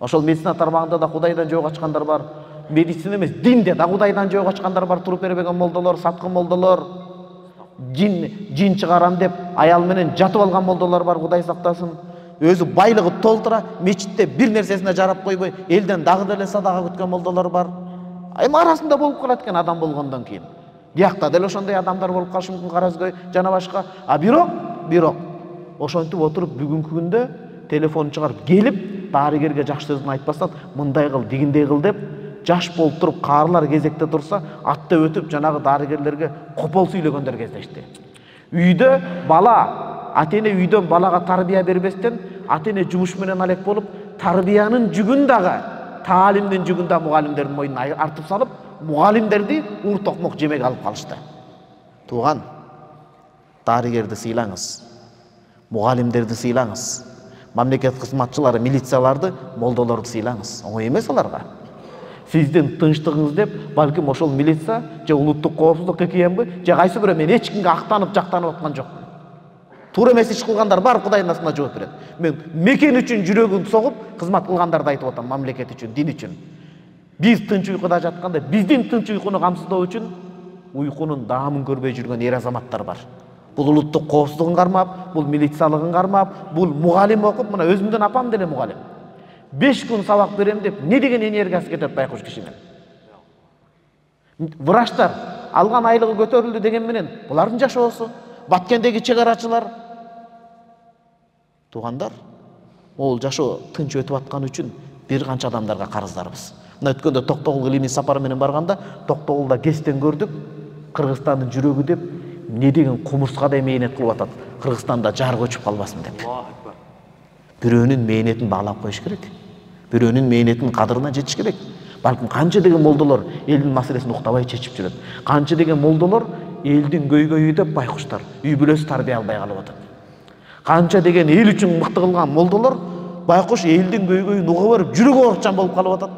Ошол медицина тармагында да Кудайдан жөө качкандар бар. Медицина эмес, динде да Кудайдан жөө качкандар бар. Туруп бербеген молдолор, саткы молдолор, жин жин чыгарам деп аял менен жатып алган молдолор бар, Кудай сактасын. Өзү байлыгы толтура, мечитте бир нерсесине жарап койбой, элден дагы деле садага күткөн молдолор бар. Эми арасында болуп калат экен адам болгондон кийин. Биякта деле ошондой адамдар болуп калышы мүмкүн, Каразгөй жана башка. А бирок, бирок ошентип отуруп бүгүнкү күндө телефон чыгарып келип, дарыгерге жакшы сөзүн айтпастан, мындай кыл, дигиндей кыл деп, жаш болуп туруп, каарылар кезекте турса, атта өтүп жанагы дарыгерлерге копол сүйлөгөндөр кездешти. Үйдө бала, ата-эне үйдөн балага тарбия бербестен, ата-эне жумуш менен алек болуп, тарбиянын жүгүн дагы, таалимдин жүгүн да мугалимдердин мойнуна артып салып, мугалимдерди ур токмок жемеге алып калышты. Тууган, дарыгерди сыйлаңыз, мугалимдерди сыйлаңыз, мамлекет кызматчылары, милицияларды, молдолорду сыйлаңыз. Оңой эмес аларга. Сиздин тынчтыгыңыз деп, балким ошол милиция же улуттук коопсуздук ККМбы, же кайсы бирөө, мен эч кимге актанып, жактанып аткан жокмун. Туура эмес иш кылгандар бар, Кудайдын астында жооп берет. Мен мекен үчүн жүрөгүн согуп, кызмат кылгандарды айтып атам, мамлекет үчүн, дин үчүн. Биз тынч уйкуда жатканда, биздин тынч уйкуну камсыздоо үчүн уйкунун даамын көрбөй жүргөн эр азаматтар бар. Бул улуттук коопсуздугун кармап, бул милициялыгын кармап, бул мугалим окуп, мына өзүмдүн апам деле мугалим. беш күн сабак берем деп, не деген энергиясы кетет байкуш кишинин. Врачтар алган айлыгы көтөрүлдү деген менен, булардын жашоосу, Баткендеги чегарачылар. Туугандар, ол жашоо тынч өтүп аткан үчүн бир канча адамдарга карыздарбыз. Мына өткөндө Токтогулга илимий сапар менен барганда, Токтогулда Кестен көрдүк, Кыргызстандын жүрөгү деп, не деген кумурскадай мээнет кылып атат. Кыргызстанда жар көчүп калбасын деп. Бирөөнүн мээнетин баалап коюш керек. Бирөөнүн мээнетинин кадырына жетиш керек. Балким канча деген молдолор элдин маселесин уктабай чечип жүрөт. Канча деген молдолор элдин көйгөйү деп байкуштар үй бүлөсү тарбия албай калып атат. Канча деген эл үчүн мыкты кылган молдолор байкуш элдин көйгөйүн уга берип жүрөгү оорчан болуп калып атат.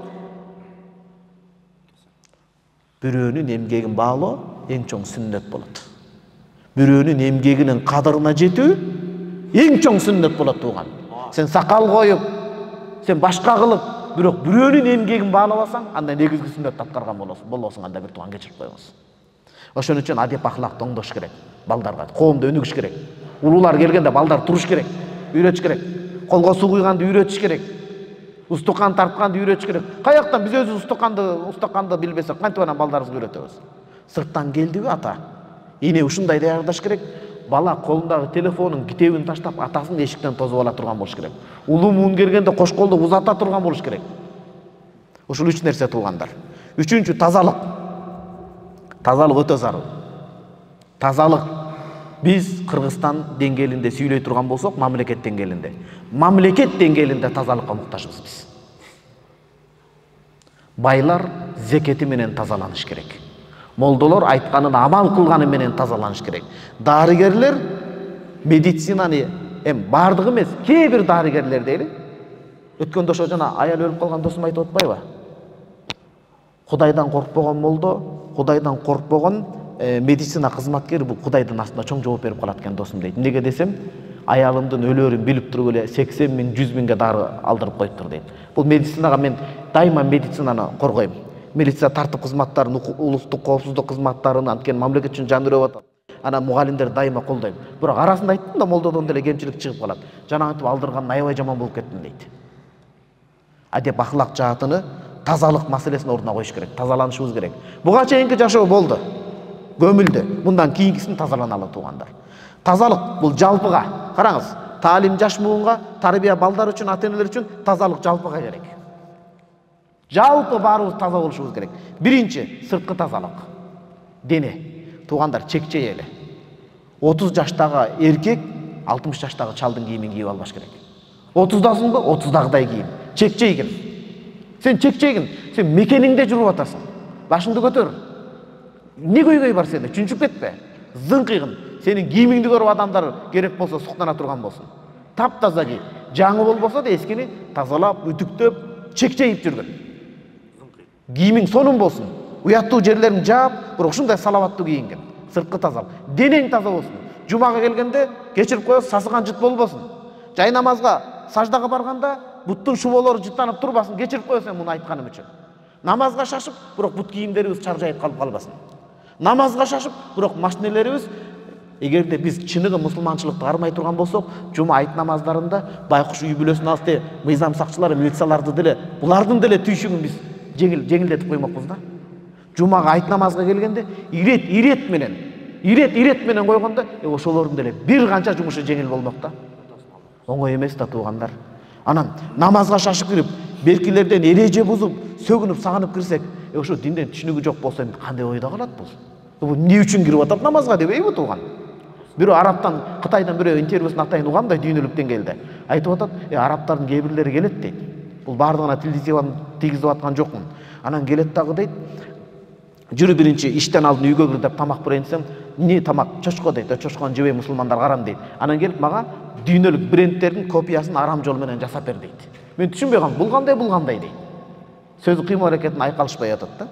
Бирөөнүн эмгегин баалоо эң чоң сүннөт болот. Бирөөнүн эмгегинин кадырына жетүү эң чоң сүннөт болот, тууган. Сен сакал коюп, сен башка кылып, бирок бирөөнүн эмгегин баалабасаң, анда негизги сүннөттү аткарган болосуң. Болосуң анда бир тууган кечирип коюңуз. Ошон үчүн адеп ахлакты оңдош керек. Балдарга, коомдо өнүгүш керек. Улуулар келгенде балдар туруш керек, үйрөтүш керек. Колго суу куйганды үйрөтүш керек. Устукан тартканды үйрөтүш керек. Каяктан биз өзү устуканды, устуканды билбесек, кантип анан балдарыбызга үйрөтөбүз? Сырттан келдиби ата? Эне ушундай даярдаш керек. Бала колундагы телефонун китебин таштап, атасын эшиктен тосуп ала турган болуш керек. Улуу муун келгенде кош колду узата турган болуш керек. Ушул үч нерсе, туугандар. Үчүнчү, тазалык. Тазалык өтө зарыл. Тазалык. Биз Кыргызстан деңгээлинде сүйлөй турган болсок, мамлекет деңгээлинде. Мамлекет деңгээлинде тазалыкка муктажбыз биз. Байлар зекети менен тазаланыш керек. Молдолор айтканын амал кылганы менен тазаланыш керек. Дарыгерлер медицинаны эм бардыгы эмес, кээ бир дарыгерлер дейли. Өткөндө ошо жана аял өлүп калган досум айтып атпайбы? Кудайдан коркпогон молдо, Кудайдан коркпогон медицина кызматкери бул Кудайдын астында чоң жооп берип калат экен досум дейт. Неге десем, аялымдын өлөрүн билип туруп эле сексен миң, жүз миңге дары алдырып коюптур дейт. Бул медицинага мен дайыма медицинаны коргойм. Милиция тартып кызматтарын, улуттук коопсуздук кызматтарын, анткени мамлекет үчүн жан өрөп атат. Ана мугалимдер дайыма колдойм. Бирок арасында айттым да, молдодон деле кемчилик чыгып калат. Жанагынтип алдырган аябай жаман болуп кеттим дейт. Адеп ахлак жаатыны тазалык маселесин ордуна коюш керек, тазаланышыбыз керек. Буга чейинки жашоо болду, көмүлдү. Мындан кийинкисин тазаланалы туугандар. Тазалык бул жалпыга. Караңыз, таалим жаш муунга, тарбия балдар үчүн, ата-энелер үчүн тазалык жалпыга керек. Жалпы баарыбыз таза болушубуз керек. Биринчи, сырткы тазалык. Дене. Туугандар, чекчей эле. отуз жаштагы эркек алтымыш жаштагы чалдын кийимин кийип албаш керек. отуздасыңбы? отуздагыдай кийим. Чекчейгин. Сен чекчейгин. Сен мекениңде жүрүп атасың. Башыңды көтөр. Не көйгөй бар сенде? Чүнчүп кетпе. Зыңкыйгын. Сенин кийимиңди көрүп адамдар керек болсо суктана турган болсун. Таптаза кий. Жаңы болбосо да эскини тазалап, үтүктөп, чекчейип жүргөн. Кийимиң сонун болсун. Уяттуу жерлерин жаап, бирок ушундай салаваттуу кийинген. Сырткы тазалык. Денең таза болсун. Жумага келгенде кечирип коесуз, сасыган жыт болбосун. Жай намазга, саждага барганда буттун шуболору жыттанып турбасын, кечирип коесуң муну айтканым үчүн. Намазга шашып, бирок бут кийимдерибиз чаржайып калып калбасын. Намазга шашып, бирок машинелерибиз, эгерде биз чыныгы мусулманчылыкты кармай турган болсок, жума айт намаздарында байкуш үй бүлөсүн алсы, мыйзам сакчылары, милицияларды деле, булардын деле түйшүгүн биз жеңил жеңилдетип коймокпуз да. Жумага айт намазга келгенде ирет ирет менен, ирет ирет менен койгондо, э ошолордун деле бир канча жумушу жеңил болмок да. Оңой эмес да туугандар. Анан намазга шашып кирип, беркилерден эреже бузуп, сөгүнүп, сагынып кирсек, э ошо динден түшүнүгү жок болсо эми кандай ойдо калат бул? Бул эмне үчүн кирип атат намазга дебейби тууган? Бирөө Арабтан, Кытайдан бирөө интервьюсун атайын угандай дүйнөлүк деңгээлде. Айтып атат, э арабтардын кээ бирлери келет дейт. Бул бардыгына тил тийгизип аткан жокмун. Анан келет дагы дейт. Жүрү биринчи иштен алдын үйгө кир деп тамак брендсем, эмне тамак? Чочко дейт. Чочкону жебей мусулмандар карам дейт. Анан келип мага дүйнөлүк брендтердин копиясын арам жол менен жасап бер дейт. Мен түшүнбөй калдым. Бул кандай, бул кандай дейт. Сөзү кыймыл аракетин айкалышпай атат да.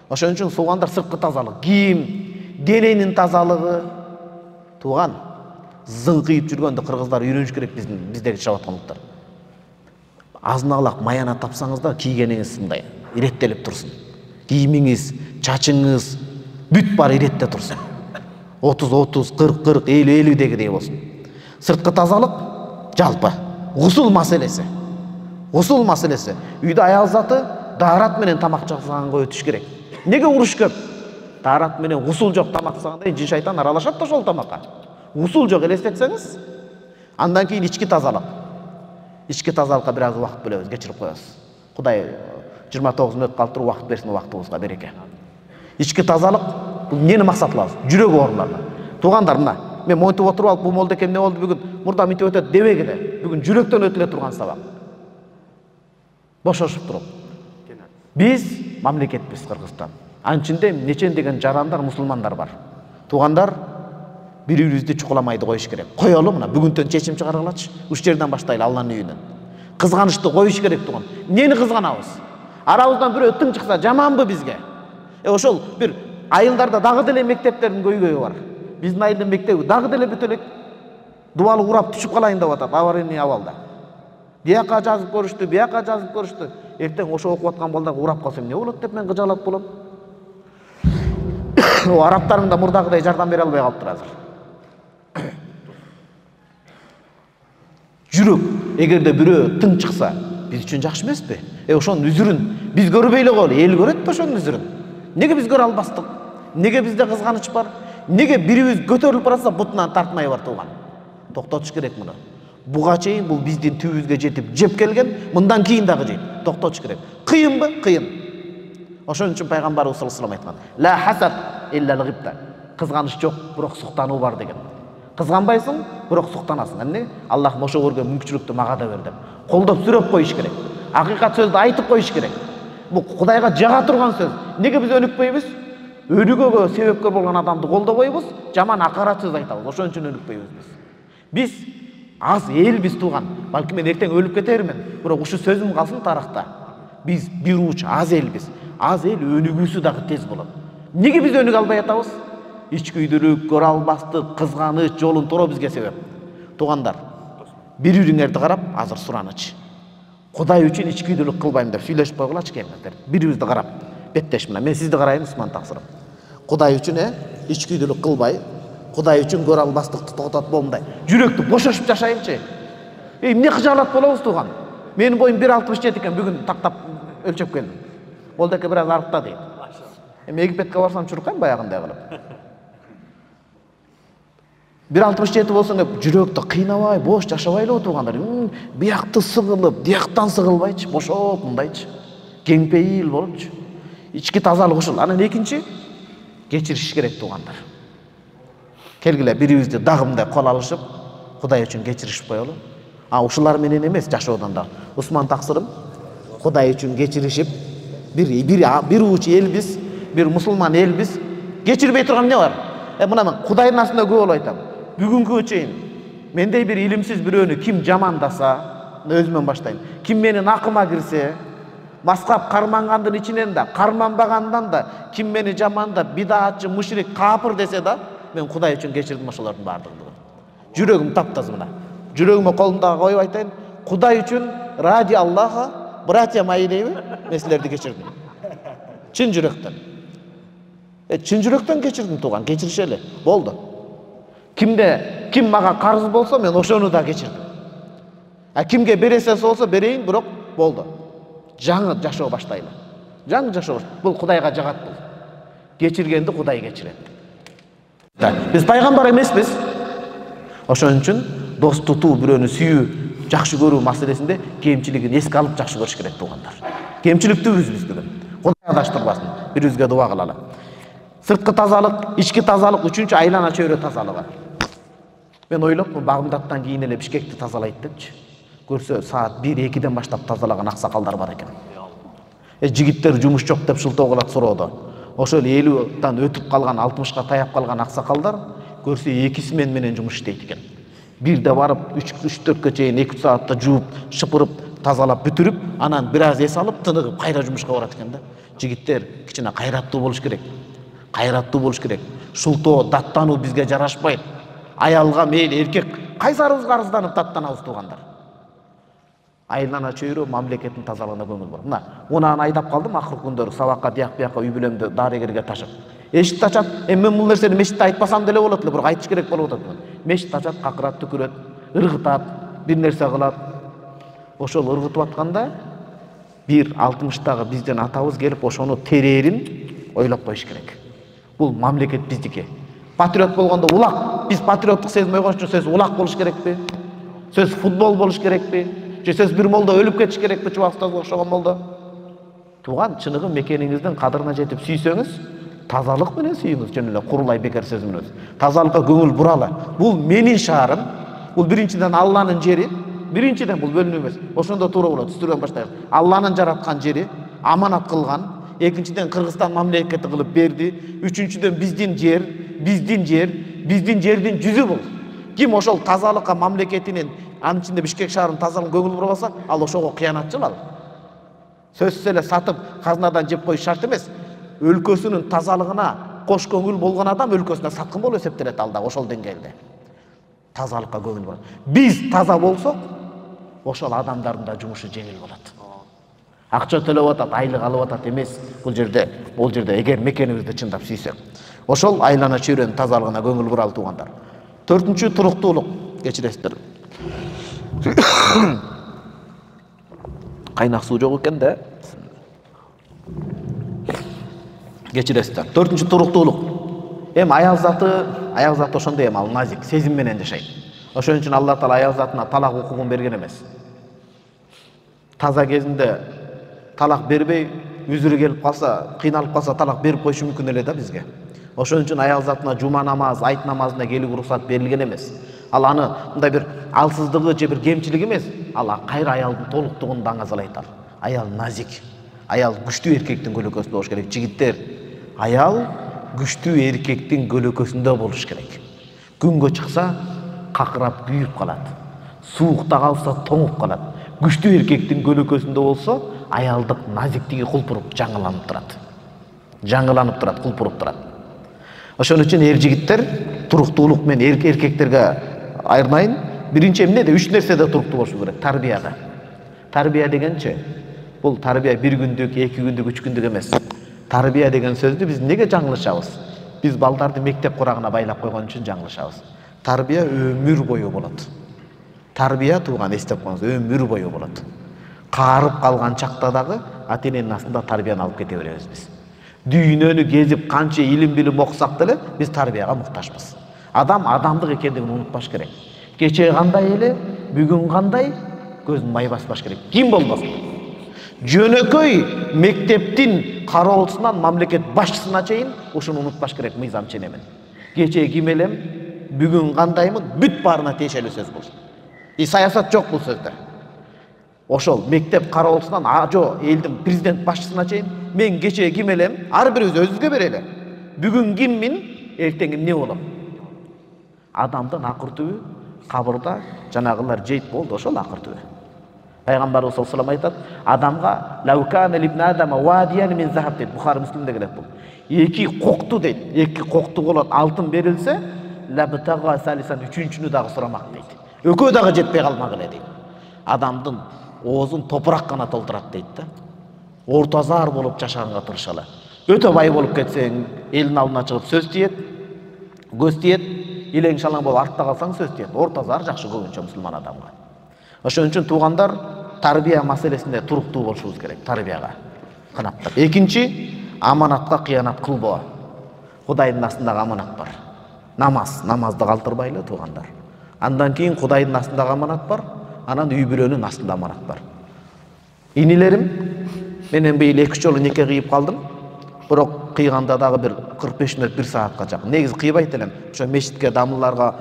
Ошон үчүн суугандар сырткы тазалык, кийим, дененин тазалыгы. Тууган, зыңкыйып жүргөндө кыргыздар үйрөнүш керек биздин биздеги жашап аткандыктар. Азынаалак маяна тапсаңыз да кийгениңиз сындай иреттелип турсун. Кийимиңиз, чачыңыз бүт бар иретте турсун. отуз отуз, кырк кырк, элүү элүүдегидей болсун. Сырткы тазалык жалпы. Гусул маселеси. Гусул маселеси. Үйдө аял заты даарат менен тамак жасаганга өтүш керек. Неге уруш көп? Даарат менен гусул жок тамак жасаганда жин шайтан аралашат да ошол тамакка. Гусул жок элестетсеңиз, андан кийин ички тазалык. Ички тазалыкка бир аз убакыт бөлөбүз, кечирип коебуз. Кудай жыйырма тогуз мүнөт калып туруп убакыт берсин убактыбызга береке. Ички тазалык бул эмнени максат кылабыз? Жүрөк ооруларына. Туугандар, мына мен монтип отуруп алып, бул молдо экен эмне болду бүгүн? Мурда мынтип өтөт дебегиле. Бүгүн жүрөктөн өтүлө турган сабак. Бошошуп туруп. Биз мамлекетпиз Кыргызстан. Анын ичинде нечендеген жарандар, мусулмандар бар. Туугандар, бири-бирибизди чукуламайды коюш керек. Коелу мына бүгүнтөн чечим чыгаргылачы. Уш жерден баштайлы Алланын үйүнөн. Кызганычты коюш керек тууган. Эмнени кызганабыз? Арабыздан бирөө тың чыкса жаманбы бизге? Э ошол бир айылдарда дагы деле мектептердин көйгөйү бар. Биздин айылдын мектеби дагы деле бүт элек дубалы урап түшүп калайын деп атат, аварийный абалда. Бияка жазып көрүштү, бияка жазып көрүштү. Эртең ошо окуп аткан балдар урап калса эмне болот деп мен кыжалат болом. О арабтарың да мурдагыдай жардам бере албай калыптыр азыр. Жүрөк, эгерде бирөө тың чыкса, биз үчүн жакшы эмеспи? Э ошонун үзүрүн биз көрбөй эле коелу, эл көрөт да ошонун үзүрүн. Неге биз көрө албастык? Неге бизде кызганыч бар? Неге бирибиз көтөрүлүп барса бутунан тартмай бар тууган? Токтотуш керек муну. Буга чейин бул биздин түбүбүзгө жетип жеп келген, мындан кийин дагы жейт. Токтотуш керек. Кыйынбы? Кыйын. Ошон үчүн пайгамбарыбыз саллаллаху алейхи ва саллям айткан: "Ла хасад илля al-ghibta." Кызганыч жок, бирок суктануу бар деген. Кызганбайсың, бирок суктанасың. Эмне? Аллах ошо көргөн мүмкүнчүлүктү мага да бер деп. Колдоп сүрөп коюш керек. Акыйкат сөздү айтып коюш керек. Бул Кудайга жага турган сөз. Неге биз өнүкпөйбүз? Өнүгүүгө себепкер болгон адамды колдобойбуз, жаман акарат сөз айтабыз. Ошон үчүн өнүкпөйбүз биз. Биз аз элбиз тууган. Балки мен эртең өлүп кетермин, бирок ушу сөзүм калсын тарыхта. Биз бир уч аз элбиз. Аз эл өнүгүүсү дагы тез болот. Неге биз өнүгө албай атабыз? Ичкүйдүлүк, көрө албастык, кызганыч, жолун тороо бизге себеп. Туугандар, бири-бириңерди карап азыр сураныч. Кудай үчүн ичкүйдүлүк кылбайм деп сүйлөшүп койгулачы келиңиздер. Бирибизди карап, беттеш мына. Мен сизди карайын, Усман Таксыров. Кудай үчүн э ичкүйдүлүк кылбай, Кудай үчүн көрө албастыкты токтотуп болмдай. Жүрөктү бошошуп жашайынчы. Эй, эмне кыжаалат болобуз тууган? Менин боюм бир алтымыш жети экен, бүгүн тактап өлчөп келдим. Молдеке бир аз арыкта дейт. Эми Египетке барсам чуркайм баягындай кылып. бир алтымыш жети болсоң деп жүрөктү кыйнабай, бош жашабайлы отургандар. Биякты сыгылып, дияктан сыгылбайчы, бошоп мындайчы. Кеңпейил болупчу. Ички тазалык ушул. Анан экинчи кечириш керек туугандар. Келгиле бирибизди дагымдай кол алышып, Кудай үчүн кечиришип коелу. А ушулар менен эмес жашоодон да. Усман таксырым Кудай үчүн кечиришип, бир бир бир уч элбиз, бир мусулман элбиз. Кечирбей турган эмне бар? Э мына мен Кудайдын астында көп болуп айтам. Бүгүнгү чейин мендей бир илимсиз бирөөнү ким жамандаса, өзүмөн баштайм. Ким менин акыма кирсе, маскап кармангандын ичинен да, карманбагандан да, ким мени жамандап, бидаатчы, мушрик, капыр десе да, мен Кудай үчүн кечирдим ошолордун баардыгын. Жүрөгүм таптаза мына. Жүрөгүмө колумдагы коюп айтайын, Кудай үчүн ради Аллаха, братья мои дейби, мен силерди кечирдим. Чын жүрөктөн. Э чын жүрөктөн кечирдим тууган, кечиришели. Болду. Кимде ким мага карыз болсо, мен ошону да кечирдим. А кимге бересесі болсо берейин, бирок болду. Жаңы жашоо баштайлы. Жаңы жашоо. Бул Кудайга жагат бул. Кечиргенди Кудай кечирет. Биз пайгамбар эмеспиз. Ошон үчүн дос тутуу, бирөөнү сүйүү, жакшы көрүү маселесинде кемчилигин эске алып жакшы көрүш керек туугандар. Кемчиликтүүбүз биз бүгүн. Кудай адаштырбасын. Бирибизге дуа кылалы. Сырткы тазалык, ички тазалык, үчүнчү айлана чөйрө тазалыгы. Мен ойлопмун, Багымдаттан кийин эле Бишкекти тазалайт депчи. Көрсө саат бир экиден баштап тазалаган аксакалдар бар экен. Э жигиттер жумуш жок деп шылтоо кылат суроодо. Ошол элүүдан өтүп калган, алтымышка таяп калган аксакалдар көрсө экиси мен менен жумуш иштейт экен. Бирде барып үч төрткө чейин эки саатта жууп, шыпырып, тазалап бүтүрүп, анан бир аз эс алып, тыныгып кайра жумушка барат экен да. Жигиттер кичине кайраттуу болуш керек. Кайраттуу болуш керек. Шултоо, даттануу бизге жарашпайт. Аялга мейли, эркек кайсарыбызга арызданып даттанабыз туугандар. Айлана чөйрө мамлекеттин тазалыгына көңүл бор. Мына, унаны айдап калдым акыркы күндөрү сабакка тияк бияка үй бүлөмдү дарыгерге ташып. Эшикти ачат. Эми мен бул нерсени мешитте айтпасам деле болот эле, бирок айтыш керек болуп атат. Мешитти ачат, какырат, түкүрөт, ыргытат, бир нерсе кылат. Ошол ыргытып атканда бир алтымыштагы бизден атабыз келип ошону терээрин ойлоп коюш керек. Бул мамлекет биздики. Патриот болгондо улак, биз патриоттук сезим ойгош үчүн сөз улак болуш керекпи? Сөз футбол болуш керекпи? Же сөз бир молдо өлүп кетиш керекпи, Чубакстазга окшогон молдо? Тууган, чыныгы мекениңиздин кадырына жетип сүйсөңүз, тазалык менен сүйүңүз, жөн эле курулай бекер сөз менен. Тазалыкка көңүл буралы. Бул менин шаарым. Бул биринчиден Алланын жери. Биринчиден бул бөлүнүү эмес. Ошондо туура болот, түстүргөн баштайбыз. Алланын жараткан жери, аманат кылган. Экинчиден Кыргызстан мамлекети кылып берди. Үчүнчүдөн биздин жер, биздин жер, биздин жердин жүзү бул. Ким ошол тазалыкка мамлекетинин, анын ичинде Бишкек шаарынын тазалыгына көңүл бурбаса, ал ошого кыянатчыл ал. Сөзсүз эле сатып, казынадан жеп коюш шарт эмес. Өлкөсүнүн тазалыгына кош көңүл болгон адам өлкөсүнө саткын болуп эсептелет алда ошол деңгээлде. Тазалыкка көңүл бурат. Биз таза болсок, ошол адамдардын да жумушу жеңил болот. Акча төлөп атат, айлык алып атат эмес. Бул жерде, бул жерде эгер мекенибизди чындап сүйсөк, ошол айлана чөйрөнүн тазалыгына көңүл буралы туугандар. Төртүнчү туруктуулук, кечиресиздер. Кайнак суу жок экен да. Кечиресиздер. Төртүнчү туруктуулук. Эми аял заты, аял заты ошондой эми ал назик, сезим менен жашайт. Ошон үчүн Алла Таала аял затына талак укугун берген эмес. Таза кезинде талак бербей, үзүрү келип калса, кыйналып калса талак берип коюшу мүмкүн эле да бизге. Ошон үчүн аял затына жума намаз, айт намазына келүүгө уруксат берилген эмес. Ал аны мындай бир алсыздыгы же бир кемчилиги эмес, ал кайра аялдын толуктугун даңазалайт ал. Аял назик, аял күчтүү эркектин көлөкөсүндө болуш керек. Жигиттер, аял күчтүү эркектин көлөкөсүндө болуш керек. Күнгө чыкса, какырап күйүп калат. Суукта калса, тоңуп калат. Күчтүү эркектин көлөкөсүндө болсо, аялдык назиктиги кулпуруп жаңыланып турат. Жаңыланып турат, кулпуруп турат. Ошон үчүн эр жигиттер туруктуулук менен эркектерге айырмайын. Биринчи эмнеде үч нерседе туруктуу болушу керек. Тарбияда. Тарбия дегенчи, бул тарбия бир күндүк, эки күндүк, үч күндүк эмес. Тарбия деген сөздү биз неге жаңылышабыз? Биз балдарды мектеп курагына байлап койгон үчүн жаңылышабыз. Тарбия өмүр бою болот. Тарбия тууган эстеп коюңуз, өмүр бою болот. каарып калган чакта дагы ата эненин астында тарбияны алып кете беребиз биз. Дүйнөнү кезип канча илим билим окусак деле биз тарбияга муктажбыз. Адам адамдык экендигин унутпаш керек. Кечээ кандай эле, бүгүн кандай, көзүн май баспаш керек. Ким болбосун. Жөнөкөй мектептин кароолчусунан мамлекет башчысына чейин ушуну унутпаш керек мыйзам ченемин. Кечээ ким элем, бүгүн кандаймын, бүт баарына тиешелүү сөз бул. И саясат жок бул сөздө. Ошол мектеп кароолчусунан ажо элдин президент башчысына чейин мен кечээ ким элем, ар бирибиз өзүбүзгө берели. Бүгүн киммин, эртең эмне болом? Адамдын акыр түбү кабырда жанагылар жейт болду, ошол акыр түбү. Пайгамбарыбыз саллаллаху алейхи ва саллям айтат, адамга лаукана ибн адама вадиян мин захаб дейт. Бухари Муслимде келет бул. Эки кокту дейт. Эки кокту болот, алтын берилсе, лабтага салисан үчүнчүнү дагы сурамак дейт. Экөө дагы жетпей калмак эле дейт. Адамдын оозун топурак гана толтурат дейт да. Ортазар болуп жашаганга тырышалы. Өтө бай болуп кетсең, элдин алдына чыгып сөз тиет, көз тиет, илең шалаң болуп артта калсаң сөз тиет. Ортазар жакшы көбүнчө мусулман адамга. Ошон үчүн туугандар тарбия маселесинде туруктуу болушубуз керек, тарбияга канаптап. Экинчи, аманатка кыянат кылбоо. Кудайдын астындагы аманат бар. Намаз, намазды калтырбайлы туугандар. Андан кийин Кудайдын астындагы аманат бар, анан үй бүлөнүн астында аманат бар. Инилерим, менен быйыл эки жолу неке кыйып калдым. Бирок кыйганда дагы бир кырк беш мүнөт, бир саатка жакын. Негизи кыйбайт элем. Ошо мешитке, дамылларга,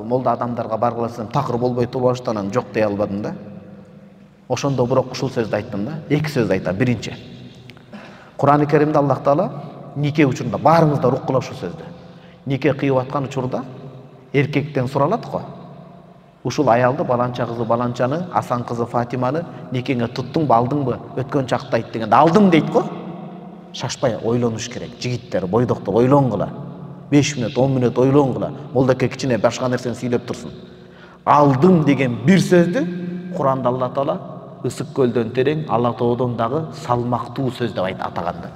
молда адамдарга баргыла десем, такыр болбой турбаштан жок дей албадым да. Ошондо бирок ушул сөздү айттым да. Эки сөз айтам. Биринчи, Кур'ан-ы Керимде Аллах Таала нике учурунда баарыңыз да рук кылып ушул сөздү. Нике кыйып аткан учурда эркектен суралат го. Ушул аялды, баланча кызы баланчаны, Асан кызы Фатиманы никеңе туттуңбу, алдыңбы? Өткөн чакта айт дегенде алдым дейт го. Шашпай ойлонуш керек. Жигиттер, бойдоктор ойлонгула. беш мүнөт, он мүнөт ойлонгула. Молдоке кичине башка нерсени сүйлөп турсун. Алдым деген бир сөздү Кур'анда Алла Таала ысык көлдөн терең, Алла тоодон дагы салмактуу сөз деп айт атаганда.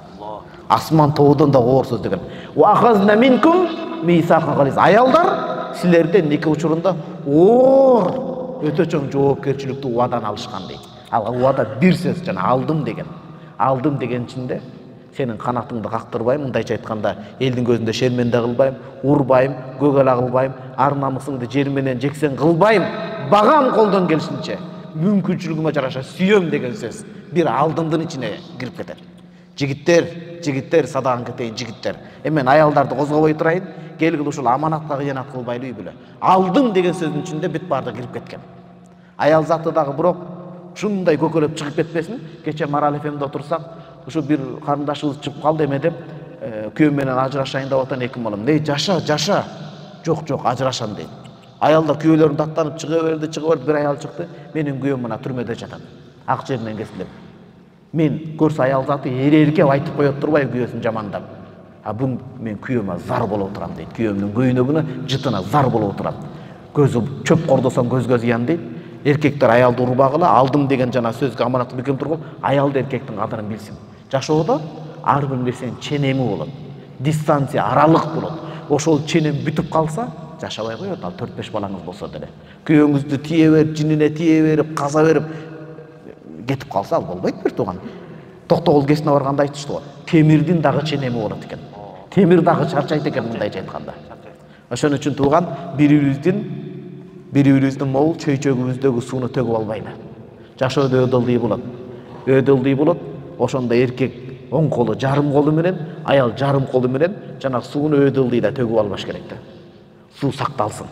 Асман тоодон да оор сөз деген. Ва ахазна минкум мисакан гализ. Аялдар силерден нике учурунда оор өтө чоң жоопкерчиликтүү убадан алышкан дейт. Ал убада бир сөз жана алдым деген. Алдым деген ичинде сенин канатыңды кактырбайм, мындайча айтканда, элдин көзүндө шерменде кылбайм, урбайм, көгөлө кылбайм, ар намысыңды жер менен жексен кылбайм, багам колдон келишинче, мүмкүнчүлүгүмө жараша сүйөм деген сөз бир алдымдын ичине кирип кетет. Жигиттер, жигиттер садаган кетейин жигиттер. Эмен аялдарды козгобой турайын, келгил ушул аманатка кыянат кылбайлы үй бүлө. Алдым деген сөздүн ичинде бүт барды кирип кеткен. Аял заты дагы бирок ушундай көкөлөп чыгып кетпесин. Кече Марал эфемде отурсак, ушу бир карындашыбыз чыгып калды эме деп, күйөөм менен ажырашайын деп атан эки балам. Не жаша, жаша. Жок, жок, ажырашам дейт. Аялдар күйөөлөрүн даттанып чыга берди, чыга берди, бир аял чыкты. Менин күйөөм мына түрмөдө жатат. Ак жеринен кесилип. Мен көрсө аял заты эреркеп айтып коет турбай күйөөсүн жамандап. А бун мен күйөөмө зар болуп турам дейт. Күйөөмдүн көйнөгүнө, жытына зар болуп турам. Көзү чөп кордосом көзгө зыян дейт. Эркектер аялды урбагыла, алдым деген жана сөзгө аманатты бекем тургул, аялды эркектин кадырын билсин. Жашоодо ар бир нерсенин ченеми болот. Дистанция, аралык болот. Ошол ченем бүтүп калса, жашабай коет, ал төрт беш балаңыз болсо деле. Күйөөңүздү тие берип, жинине тие берип, каза берип кетип калса ал болбойт бир тууган. Токтогул кесине барганда айтышты го. Темирдин дагы ченеми болот экен. Темир дагы чарчайт экен мындайча айтканда. Ошон үчүн тууган бири-бирибиздин бири-бирибиздин могул чөйчөгүбүздөгү сууну төгүп албайлы. Жашоодо өдөлдүй болот. Өдөлдүй болот. Ошондо эркек оң колу жарым колу менен, аял жарым колу менен жана сууну өдөлдүйдө төгүп албаш керек да. Суу сакталсын.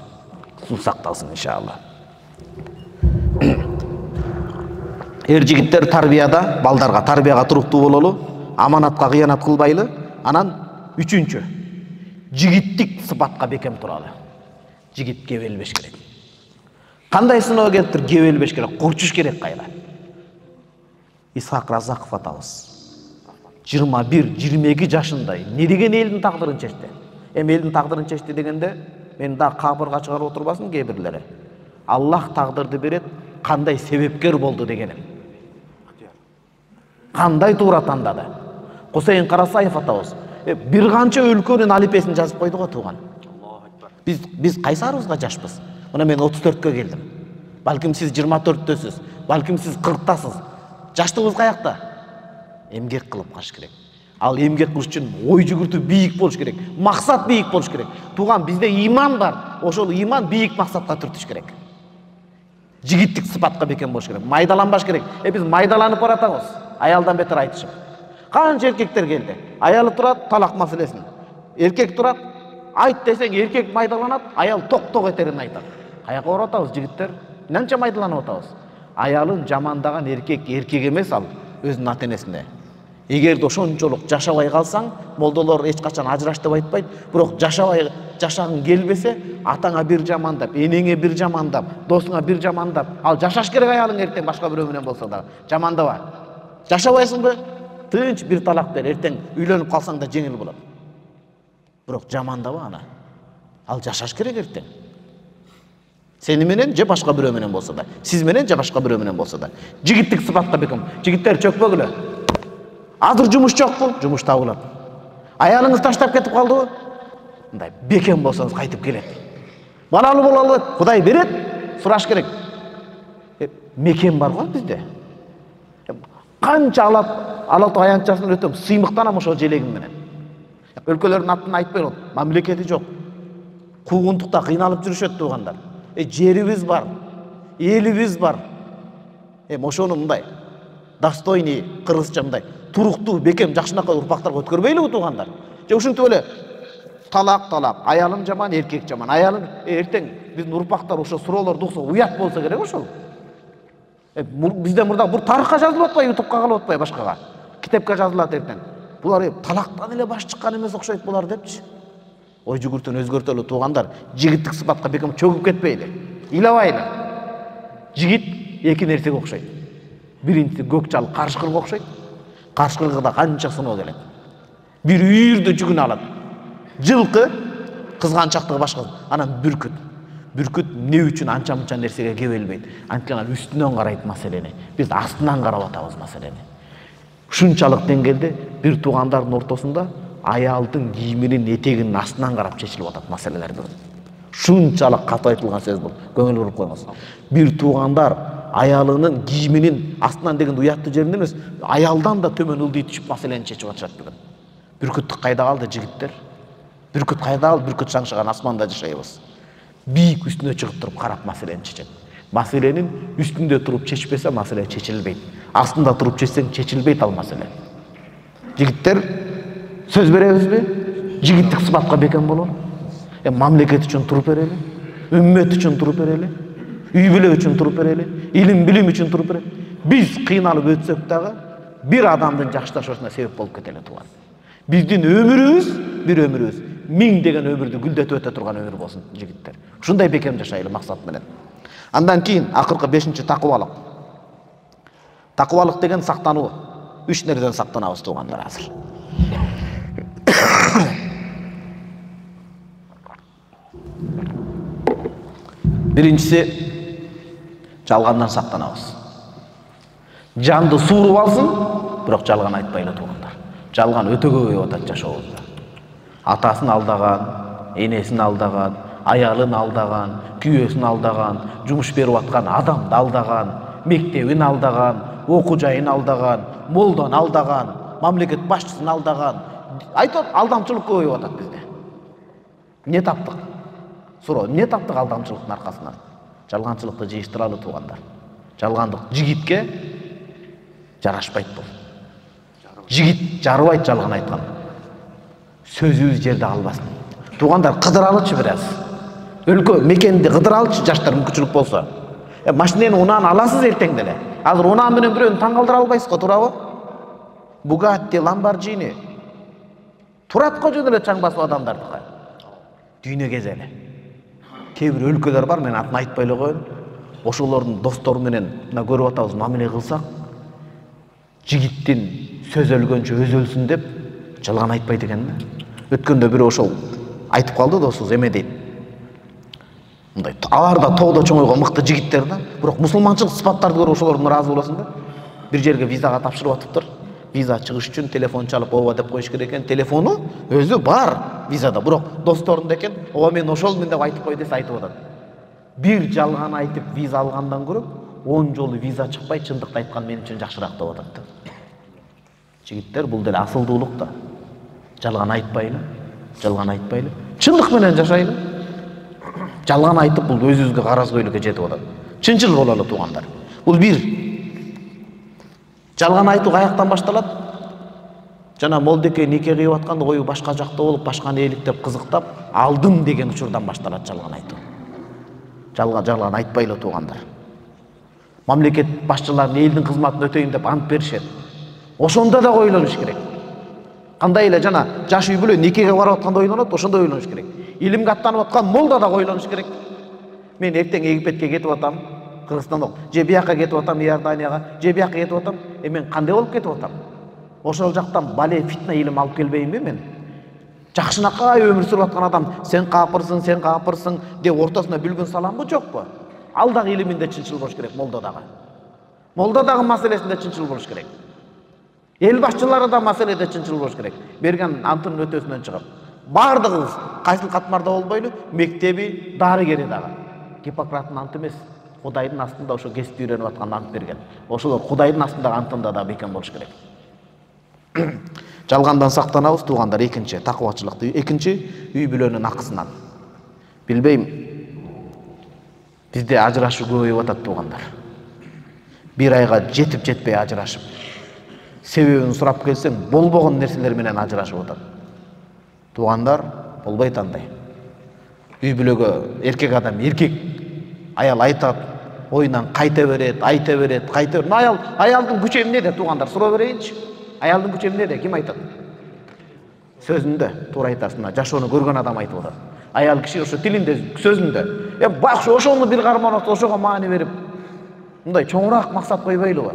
Суу сакталсын иншалла. Эр жигиттер тарбияда, балдарга тарбияга туруктуу бололу, аманатка кыянат кылбайлы. Анан үчүнчү, жигиттик сыпатка бекем туралы. Жигит кебелбеш керек. Кандай сыноо келиптир, кебелбеш керек, курчуш керек кайла. Исхак Разаков атабыз жыйырма бир жыйырма эки жашында не деген элдин тагдырын чечти. Эми элдин тагдырын чечти дегенде мен да кабырга чыгарып отурбасын кээ бирлери. Аллах тагдырды берет, кандай себепкер болду дегеним. Кандай туура тандады. Кусейин Карасаев атабыз бир канча өлкөнүн алипесин жазып койду го тууган. Биз биз кайсарыбызга жашпыз? Мына мен отуз төрткө келдим. Балким сиз жыйырма төрттөсүз, балким сиз кырктасыз. жаштыгыбыз каякта? Эмгек кылып калыш керек. Ал эмгек кылыш үчүн ой жүгүртүү бийик болуш керек, максат бийик болуш керек. Тууган, бизде иман бар. Ошол иман бийик максатка түртүш керек. Жигиттик сыпатка бекем болуш керек. Майдаланбаш керек. Э биз майдаланып баратабыз. Аялдан бетер айтышып. Канча эркектер келди. Аялы турат, талак маселесин. Эркек турат, айт десең эркек майдаланат, аял токток этерин айтат. Каяка баратабыз жигиттер? Нанча майдаланып атабыз? Аялын жамандаган эркек эркек эмес, ал өзүнүн ата-энесине. Эгерде ошончолук жашабай калсаң, молдолор эч качан ажыраш деп айтпайт, бирок жашабай жашагың келбесе, атаңа бир жамандап, энеңе бир жамандап, досуңа бир жамандап, ал жашаш керек аялың эртең башка бирөө менен болсо да. Жамандаба. Жашабайсыңбы? Тынч бир талак бер, эртең үйлөнүп калсаң да жеңил болот. Бирок жамандаба аны. Ал жашаш керек эртең. Сени менен же башка бирөө менен болсо да, сиз менен же башка бирөө менен болсо да. Жигиттик сыпатка бекем. Жигиттер чөкпөгүлө. Азыр жумуш жокпу? Жумуш табылат. Аялыңыз таштап кетип калдыбы? Мындай бекем болсоңуз кайтып келет. Балалы болалы, Кудай берет, сураш керек. Мекен бар го бизде. Канча алат, алат аянтчасын өтөм, сыймыктанам ошол желегим менен. Өлкөлөрдүн атын айтпай болот, мамлекети жок. Куугунтукта кыйналып жүрүшөт туугандар. Э жерибиз бар, элибиз бар. Эми ошону мындай достойный кыргызча мындай туруктуу, бекем, жакшынакай урпактарга өткөрбөйлүбү туугандар? Же ушинтип эле талак талак, аялым жаман, эркек жаман. Аялым эртең биздин урпактар ошо суроолорду укса уят болсо керек ошол. Э бизде мурда бул тарыхка жазылып атпайбы, ютубка калып атпайбы башкага? Китепке жазылат эртең. Булар талактан эле баш чыккан эмес окшойт булар депчи. Ой жүгүртүүнү өзгөртөлү туугандар. Жигиттик сыпатка бекем чөгүп кетпейли. Ыйлабайлы. Жигит эки нерсеге окшойт. Биринчиси көк жал карышкырга окшойт. Карышкыргада канча сыноо келет. Бир үйүрдө жүгүн алат. Жылкы кызганчактыгы башка. Анан бүркүт. Бүркүт эмне үчүн анча мынча нерсеге кебелбейт. Анткени үстүнөн карайт маселени. Биз астынан карап атабыз маселени. Ушунчалык деңгээлде бир туугандардын ортосунда аялдын кийиминин этегинин астынан карап чечилип атат маселелер бүгүн. Ушунчалык катуу айтылган сөз бул. Көңүл буруп койңуз. Бир туугандар аялынын кийиминин астынан деген уяттуу жеринен эмес, аялдан да төмөн ылдый түшүп маселени чечип атышат бүгүн. Бүркүт кайда калды жигиттер? Бүркүт кайда калды? Бүркүт шаңшыган асманда жашайбыз. Бийик үстүнө чыгып туруп карап маселени чечет. Маселенин үстүндө туруп чечпесе маселе чечилбейт. Астында туруп чечсең чечилбейт ал маселе. Жигиттер сөз беребизби? Жигиттик сыпатка бекем бололу. Э мамлекет үчүн туруп берели, үммөт үчүн туруп берели, үй бүлө үчүн туруп берели, илим билим үчүн туруп берели. Биз кыйналып өтсөк дагы бир адамдын жакшылашуусуна себеп болуп кетели тууган. Биздин өмүрүбүз бир өмүрүбүз, миң деген өмүрдү гүлдөтүп өтө турган өмүр болсун жигиттер. Ушундай бекем жашайлы максат менен. Андан кийин акыркы бешинчи такыбалык. Такыбалык деген сактануу. Үч нерседен сактанабыз туугандар азыр. Биринчиси жалгандан сактанабыз. Жанды сууруп алсын, бирок жалган айтпайлы туугандар. Жалган өтө көбөйүп атат жашообузда. Атасын алдаган, энесин алдаган, аялын алдаган, күйөөсүн алдаган, жумуш берип аткан адамды алдаган, мектебин алдаган, окуу жайын алдаган, молдон алдаган, мамлекет башчысын алдаган. Айтат, алдамчылык көбөйүп атат бизде. Эмне таптык? Суроо, эмне таптык алдамчылыктын аркасынан? Жалганчылыкты жыйыштыралы туугандар. Жалгандык жигитке жарашпайт бул. Жигит жарыбайт жалган айткан. Сөзүбүз жерде калбасын. Туугандар, кыдыралычы бир аз. Өлкө мекенди кыдыралычы жаштар мүмкүнчүлүк болсо. Э машинени унааны аласыз эртең деле. Азыр унаа менен бирөөнү таң калтыра албайсыз го, туурабы? Bugatti, Lamborghini. Турат го жөн эле чаң басып адамдардыкы. Дүйнө кезели. Кээ бир өлкөлөр бар, мен атын айтпай эле коеюн. Ошолордун достору менен мына көрүп атабыз, мамиле кылсак, жигиттин сөз өлгөнчө өз өлсүн деп жалган айтпайт экен да. Өткөндө бирөө ошол айтып калды досубуз, эме дейт. Мындай алар да тоодо чоңойгон мыкты жигиттер да, бирок мусулманчылык сыпаттарды көрүп ошолордон ыраазы болосуң да. Бир жерге визага тапшырып атыптыр. Виза чыгыш үчүн телефон чалып ооба деп коюш керек экен. Телефону өзү бар визада, бирок досторунда экен. Ооба мен ошолмун деп айтып кой десе айтып атат. Бир жалган айтып виза алгандан көрө он жолу виза чыкпай чындыкты айткан мен үчүн жакшыраак деп атат. Жигиттер, бул деле асылдуулук да. Жалган айтпайлы, жалган айтпайлы, чындык менен жашайлы. Жалган айтып бул өзүбүзгө каразгөйлүккө жетип атат. Чынчыл бололу туугандар. Бул бир. Жалган айтуу каяктан башталат? Жана молдеке нике кыйып атканда ою башка жакта болуп, башканы эликтеп кызыктап, алдым деген учурдан башталат жалган айтуу. Жалган жалган айтпайлы туугандар. Мамлекет башчылары элдин кызматын өтөйүн деп ант беришет. Ошондо да ойлонуш керек. Кандай эле жана жаш үй бүлө никеге барып атканда ойлонот, ошондо ойлонуш керек. Илимге аттанып аткан молда да ойлонуш керек. Мен эртең Египетке кетип атам, Кыргызстанда, же бияка кетип атам, Иорданияга, же бияка кетип атам, э мен кандай болуп кетип атам? Ошол жактан бале фитна илим алып келбейинби мен? Жакшынакай өмүр сүрүп аткан адам, сен капырсың, сен капырсың деп ортосуна бүлгүн саламбы, жокпу? Ал дагы илиминде чынчыл болуш керек, молда дагы. Молда дагы маселесинде чынчыл болуш керек. Эл башчылары да маселеде чынчыл болуш керек. Берген антын өтөсүнөн чыгып. Бардыгыбыз кайсыл катмарда болбойлу, мектеби, дарыгери дагы. Гиппократтын анты эмес, Кудайдын астында ошо кесипти үйрөнүп аткан ант берген. Ошолор Кудайдын астындагы антында да бекем болуш керек. Жалгандан сактанабыз туугандар. Экинчи такыбачылыкты, экинчи үй бүлөнүн акысынан. Билбейм, бизде ажырашуу көбөйүп атат туугандар. Бир айга жетип жетпей ажырашып, себебин сурап келсең, болбогон нерселер менен ажырашып атат. Туугандар, болбойт андай. Үй бүлөгө эркек адам, эркек аял айтат, оюнан кайта берет, айта берет, кайта берет. Аял, аялдын күчү эмнеде туугандар? Суроо берейинчи. Аялдын күчү эмнеде? Ким айтат? Сөзүндө, туура айтасың. Жашоону көргөн адам айтып атат. Аял киши ошо тилинде, сөзүндө. Э, бак ошону бир карман отуп, ошого маани берип, мындай чоңураак максат койбойлубу?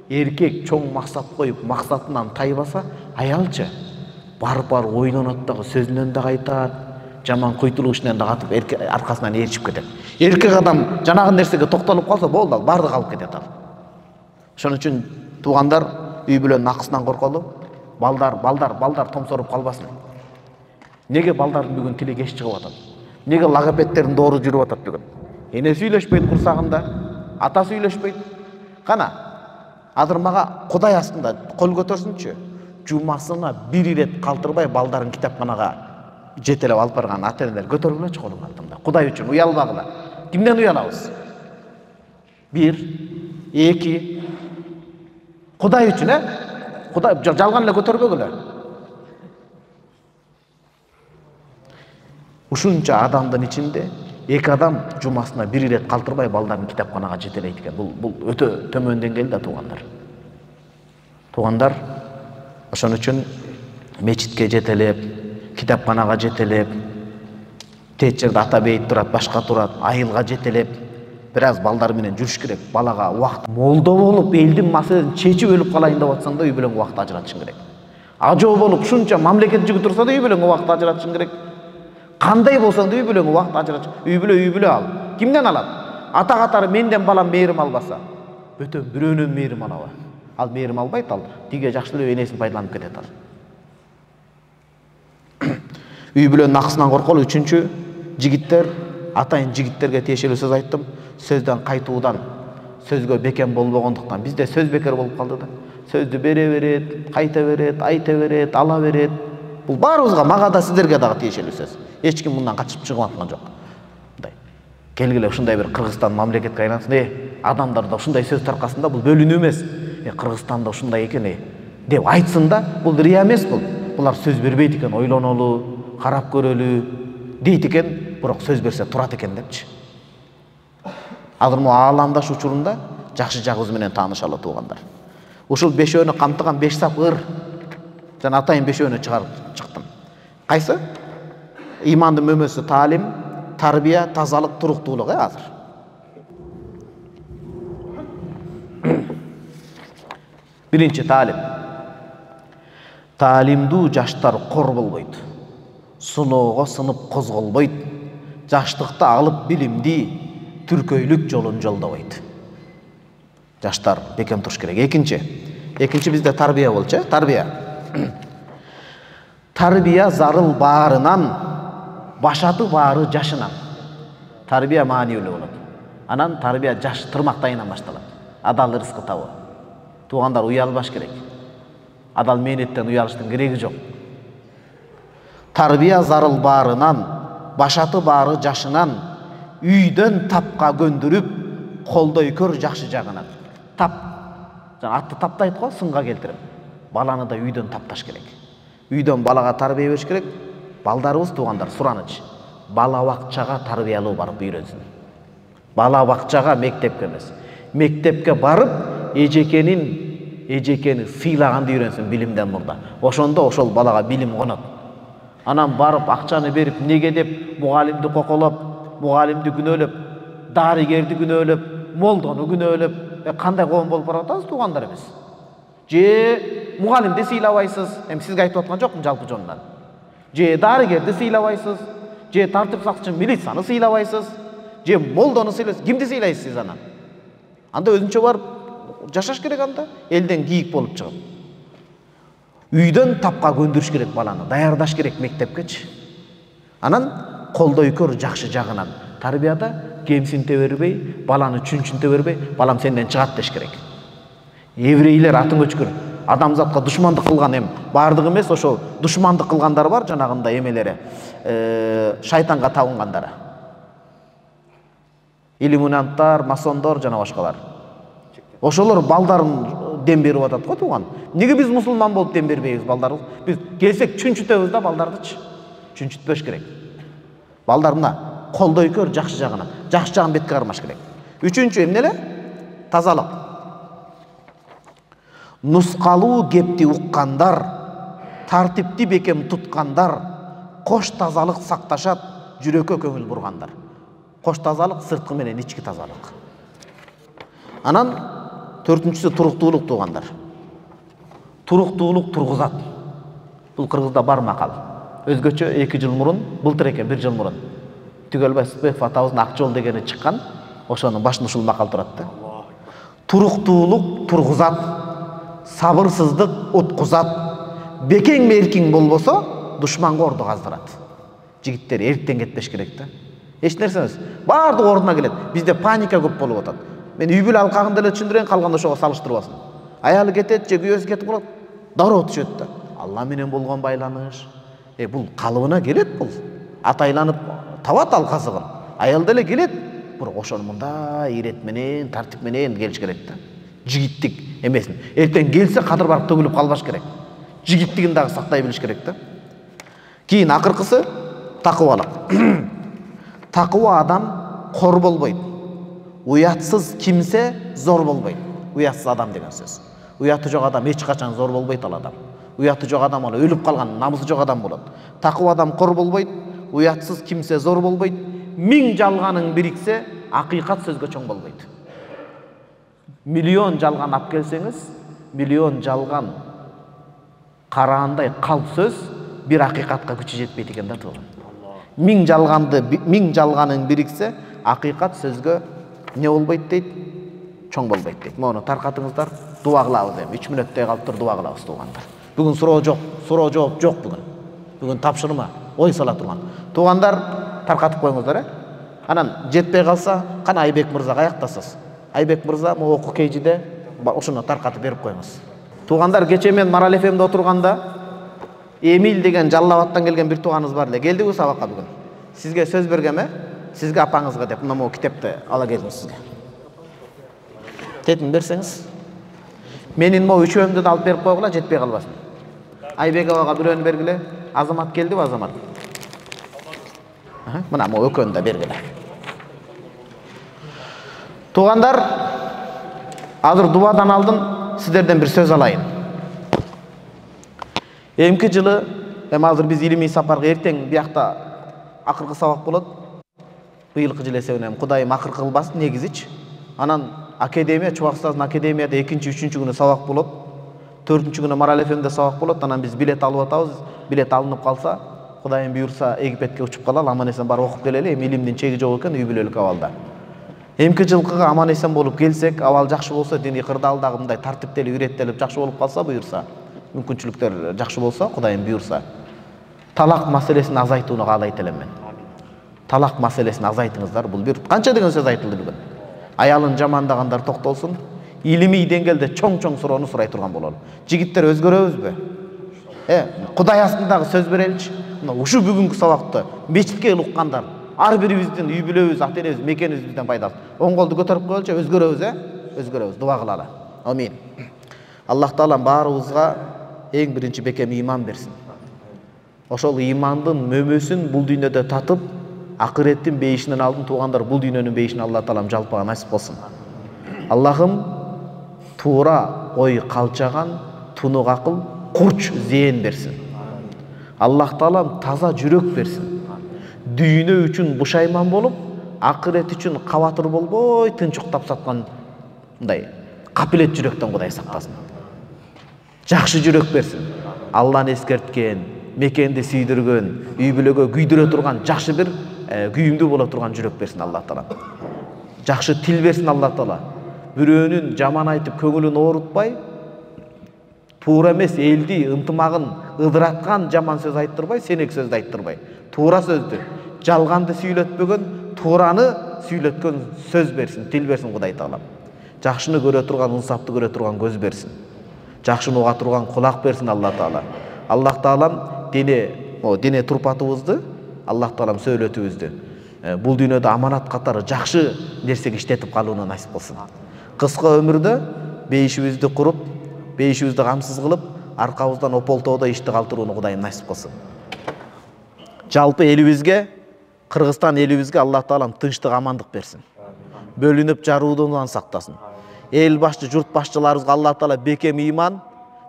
Эркек чоң максат коюп, максатынан тайбаса, аялчы барып барып ойлонот дагы, сөзүнөн да айтат, жаман куйтулук ишинен да катып аркасынан ээрчип кетет. Эркек адам жанагы нерсеге токтолуп калса, болду, ал бардык алып кетет ал. Ошон үчүн туугандар, үй бүлөнүн акысынан корколу. Балдар, балдар, балдар томсоруп калбасын. Неге балдардын бүгүн тили кеч чыгып атат? Неге логопедтердин доору жүрүп атат бүгүн? Энеси үйлөшпөйт курсагында, атасы үйлөшпөйт. Кана, азыр мага Кудай астында кол көтөрсүнчү. Жумасына бир ирет калтырбай балдарын китапканага жетелеп алып барган ата-энелер көтөргүлөчү колун артымда. Кудай үчүн уялбагыла. Кимден уялабыз? Бир, эки. Кудай үчүн, э? Кудай жалган эле көтөрбөгүлө. Ушунча адамдын ичинде эки адам жумасына бир ирет калтырбай балдарын китапканага жетелейт экен. Бул бул өтө төмөн деңгээл да туугандар. Туугандар, ошон үчүн мечитке жетелеп, китапканага жетелеп, тет жерде ата бейит турат, башка турат, айылга жетелеп, бир аз балдар менен жүрүш керек. Балага убакыт молдо болуп, элдин маселесин чечип өлүп калайын деп атсаң да үй бүлөңгө убакыт ажыратышың керек. Ажоо болуп, ушунча мамлекет жүгү турса да үй бүлөңгө убакыт ажыратышың керек. Кандай болсоң да үй бүлөңгө убакыт ажыратыш. Үй бүлө үй бүлө ал. Кимден алат? Ата катары менден балам мээрим албаса, бөтөн бирөөнөн мээрим алабы? Ал мээрим албайт, ал тиге жакшы эле энесин пайдаланып кетет ал. Үй бүлөнүн акысынан корколу. Үчүнчү, жигиттер, атайын жигиттерге тиешелүү сөз айттым. Сөздөн кайтуудан, сөзгө бекем болбогондуктан. Бизде сөз бекер болуп калды да. Сөздү бере берет, кайта берет, айта берет, ала берет. Бул баарыбызга, мага да, сиздерге дагы тиешелүү сөз. Эч ким мындан качып чыгып аткан жок. Мындай. Келгиле ушундай бир Кыргызстан мамлекетке айлансын. Э, адамдарда ушундай сөз таркасын да, бул бөлүнүү эмес. Э, Кыргызстанда ушундай экен, э, деп айтсын да, бул рия эмес бул. Булар сөз бербейт экен, ойлонолу, карап көрөлү дейт экен, бирок сөз берсе турат экен депчи. Азыр му ааламдаш учурунда жакшы жагыбыз менен таанышалы туугандар. Ушул бешөөнү камтыган беш сап ыр жана атайын бешөөнү чыгарып чыктым. Кайсы? Имандын мөмөсү таалим, тарбия, тазалык, туруктуулук, э азыр. Биринчи таалим. Таалимдүү жаштар кор болбойт. Суноого сынып козголбойт. Жаштыкта алып билимди, түркөйлүк жолун жолдобойт. Жаштар бекем туруш керек. Экинчи. Экинчи бизде тарбия болчу, э? Тарбия. Тарбия зарыл баарынан, башаты баары жашынан. Тарбия маанилүү болот. Анан тарбия жаш тырмактайынан башталат. Адал рызкы табуу. Туугандар уялбаш керек. Адал мээнеттен уялыштын кереги жок. Тарбия зарыл баарынан, башаты баары жашынан, үйдөн тапка көндүрүп, колдой көр жакшы жагынан. Тап. Жана атты таптайт го, сынга келтирип. Баланы да үйдөн тапташ керек. Үйдөн балага тарбия бериш керек. Балдарыбыз туугандар сураныч. Бала бакчага тарбиялуу барып үйрөнсүн. Бала бакчага, мектепке эмес. Мектепке барып, эжекенин эжекени сыйлаганды үйрөнсүн билимден мурда. Ошондо ошол балага билим конот. Анан барып акчаны берип, неге деп мугалимди коколоп, мугалимди күнөөлөп, дарыгерди күнөөлөп, молдону күнөөлөп, кандай коом болуп барып атабыз туугандар биз? Же мугалимди сыйлабайсыз? Эми сизге айтып аткан жокмун жалпы жонунан. Же дарыгерди сыйлабайсыз? Же тартип сакчы милицияны сыйлабайсыз? Же молдону сыйлайсыз? Кимди сыйлайсыз сиз анан? Анда өзүнчө барып жашаш керек анда, элден кийик болуп чыгып. Үйдөн тапка көндүрүш керек баланы, даярдаш керек мектепкечи. Анан колдой көр жакшы жагынан. Тарбияда кемсинте бербей, баланы чүнчүнтө бербей, балам сенден чыгат деш керек. Еврейлер атын өчкүр, адамзатка душмандык кылган эм, бардыгы эмес, ошол душмандык кылгандар бар, жанагында эмелери, шайтанга табынгандары. Иллюминанттар, масондор жана башкалар. Ошолор балдарын дем берип атат го тууган. Неге биз мусулман болуп дем бербейбиз балдарыбыз? Биз келсек чүнчүтөбүз да балдардычы. Чүнчүтпөш керек. Балдар мына колдой көр жакшы жагына. Жакшы жагын бетке кармаш керек. Үчүнчү эмне эле? Тазалык. Нускалуу кепти уккандар, тартипти бекем туткандар, кош тазалык сакташат, жүрөккө көңүл бургандар. Кош тазалык сырткы менен ички тазалык. Анан төртүнчүсү туруктуулук туугандар. Туруктуулук тургузат. Бул кыргызда бар макал. Өзгөчө эки жыл мурун, былтыр экен, бир жыл мурун Түгөлбай Сыпбеков атабыздын Ак жол дегени чыккан. Ошонун башында ушул макал турат да. Туруктуулук тургузат, сабырсыздык уткузат. Бекең меркиң болбосо, душманга орду каздырат. Жигиттер эртен кетпеш керек да. Эч нерсе эмес. Бардык ордуна келет. Бизде паника көп болуп атат. Мен үй бүлө алкагында эле түшүндүрөйүн, калганда ошого салыштырбасын. Аялы кетет, же күйөөсү кетип калат, дароо түшөт да. Алла менен болгон байланыш. Э бул калыбына келет бул. Атайланып табат ал казыгын. Аял деле келет, бирок ошону мында ирет менен, тартип менен келиш керек да. Жигиттик эмесин. Эртең келсе кадыр барып төгүлүп калбаш керек. Жигиттигин дагы сактай билиш керек да. Кийин акыркысы такыбалык. Такыба адам кор болбойт. Уятсыз кимсе зор болбойт. Уятсыз адам деген сөз. Уяты жок адам эч качан зор болбойт ал адам. Уяты жок адам аны өлүп калган, намысы жок адам болот. Такыба адам кор болбойт, уятсыз кимсе зор болбойт. Миң жалганың бириксе, акыйкат сөзгө чоң болбойт. Миллион жалган ап келсеңиз, миллион жалган караандай калп сөз бир акыйкатка күчү жетпейт экен да тууган. Миң жалганды, миң жалганың бириксе, акыйкат сөзгө не болбойт дейт, чоң болбойт дейт. Мону таркатыңыздар, дуа кылабыз эми. үч мүнөттөй калыптыр, дуа кылабыз туугандар. Бүгүн суроо жок, суроо жооп жок бүгүн. Бүгүн тапшырма, ой сала турган. Туугандар, таркатып коюңуздар, э? Анан жетпей калса, кана Айбек мырза каяктасыз? Айбек мырза могу окуу кейжиде ушуну таркатып берип коюңуз. Туугандар, кече мен Марал эф эмде отурганда Эмил деген Жалал Абадтан келген бир тууганыбыз бар эле. Келдиби сабакка бүгүн? Сизге сөз бергем, э? Сизге апаңызга деп мына могу китепти ала келдим сизге. Тетин берсеңиз. Менин могу үчөөмдү да алып берип койгула, жетпей калбасын. Айбек абага бирөөнү бергиле. Азамат келдиби, Азамат? Аха, мына могу экөөнү да бергиле. Туугандар, азыр дубадан алдын сиздерден бир сөз алайын. Эмки жылы, эми азыр биз илимий сапарга эртең биякта акыркы сабак болот. Быйылкы жыл эсебинен Кудайым акыркы кылбасын негизичи. Анан академия, Чубак устаздын академияда экинчи, үчүнчү күнү сабак болот. төртүнчү күнү Марал эф эмде сабак болот. Анан биз билет алып атабыз. Билет алынып калса, Кудайым буйрса Египетке учуп калалы, аман эсен барып окуп келели. Эми илимдин чеги жок экен, үй бүлөлүк абалда. Эмки жылкыга аман эсен болуп келсек, абал жакшы болсо, дини кырдаалдагы мындай тартиптелип, үйрөттелип жакшы болуп калса, буйрса, мүмкүнчүлүктөр жакшы болсо, Кудайым буйрса, талак маселесин азайтууну каалайт элем мен. Талак маселесин азайтыңыздар. Бул бир канча деген сөз айтылды бүгүн. Аялын жамандагандар токтолсун. Илимий деңгээлде чоң-чоң суроону сурай турган бололу. Жигиттер өзгөрөбүзбү? Э, Кудай астындагы сөз береличи. Мына ушу бүгүнкү сабакты мечитке уккандар, ар бирибиздин үй бүлөбүз, ата-энебиз, мекенибизден пайдасы. Оң колду көтөрүп коелучу, өзгөрөбүз, э? Өзгөрөбүз, дуа кылалы. Амин. Аллах Таала баарыбызга эң биринчи бекем ыйман берсин. Ошол ыймандын мөмөсүн бул дүйнөдө татып, акыреттин бейишинен алдын туугандар бул дүйнөнүн бейишин Аллах Таалам жалпыга насип кылсын. Аллахым туура ой калчаган, тунук акыл, курч зээн берсин. Аллах Таалам таза жүрөк берсин. Дүйнө үчүн бушайман болуп, акырет үчүн кабатыр болбой, тынч уктап саткан мындай капилет жүрөктөн Кудай сактасын. Жакшы жүрөк берсин. Алланы эскерткен, мекенди сүйдүргөн, үй бүлөгө күйдүрө турган жакшы бир күйүмдүү боло турган жүрөк берсин Аллах Таала. Жакшы тил берсин Аллах Таала. Бирөөнүн жаман айтып көңүлүн оорутпай, туура эмес элди ынтымагын ыдыраткан жаман сөз айттырбай, сенек сөздү айттырбай, туура сөздү, жалганды сүйлөтпөгөн, туураны сүйлөткөн сөз берсин, тил берсин Кудай Таалам. Жакшыны көрө турган, инсапты көрө турган көз берсин. Жакшыны уга турган кулак берсин Аллах Таала. Аллах Таалам дене, о дене турпатыбызды, Аллах Таалам сөйлөтүбүздү бул дүйнөдө аманат катары жакшы нерсеге иштетип калууну насип кылсын. Кыска өмүрдө бейишибизди куруп, бейишибизди камсыз кылып, аркабыздан ополтоодо ишти калтырууну Кудайым насип кылсын. Жалпы элибизге, Кыргызстан элибизге Аллах Таалам тынчтык, амандык берсин. Бөлүнүп жаруудон сактасын. Эл башчы, журт башчыларыбызга Аллах Таала бекем ыйман,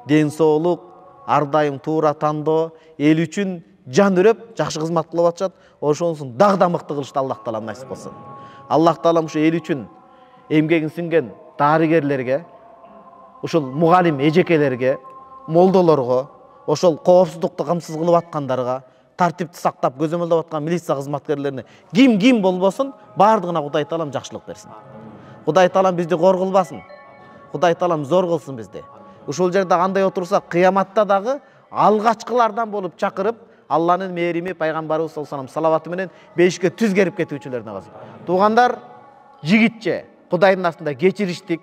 ден соолук, ар дайым туура тандоо, эл үчүн жан үрөп, жакшы кызмат кылып атышат. Ошонусун дагы да мыкты кылышты Аллах Таалам насип кылсын. Аллах Таалам ушу эл үчүн эмгегин сиңген дарыгерлерге, ушул мугалим эжекелерге, молдолорго, ошол коопсуздукту камсыз кылып аткандарга, тартипти сактап көзөмөлдөп аткан милиция кызматкерлерине ким ким болбосун, бардыгына Кудай Таалам жакшылык берсин. Кудай Таалам бизди кор кылбасын. Кудай Таалам зор кылсын бизди. Ушул жерде кандай отурсак, кыяматта дагы алгачкылардан болуп чакырып, Алланын мээрими, пайгамбарыбыз саллаллаху алейхи салаваты менен бейишке түз керип кетүүчүлөрүнө калсын. Туугандар, жигитче Кудайдын астында кечириштик,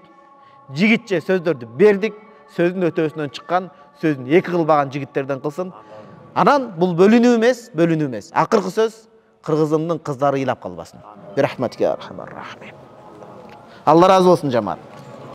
жигитче сөздөрдү бердик, сөздүн өтөөсүнөн чыккан, сөзүн эки кылбаган жигиттерден кылсын. Анан бул бөлүнүү эмес, бөлүнүү эмес. Акыркы сөз кыргызымдын кыздары ыйлап калбасын. Бирахматика архамар рахим. Алла разы болсун жамаат.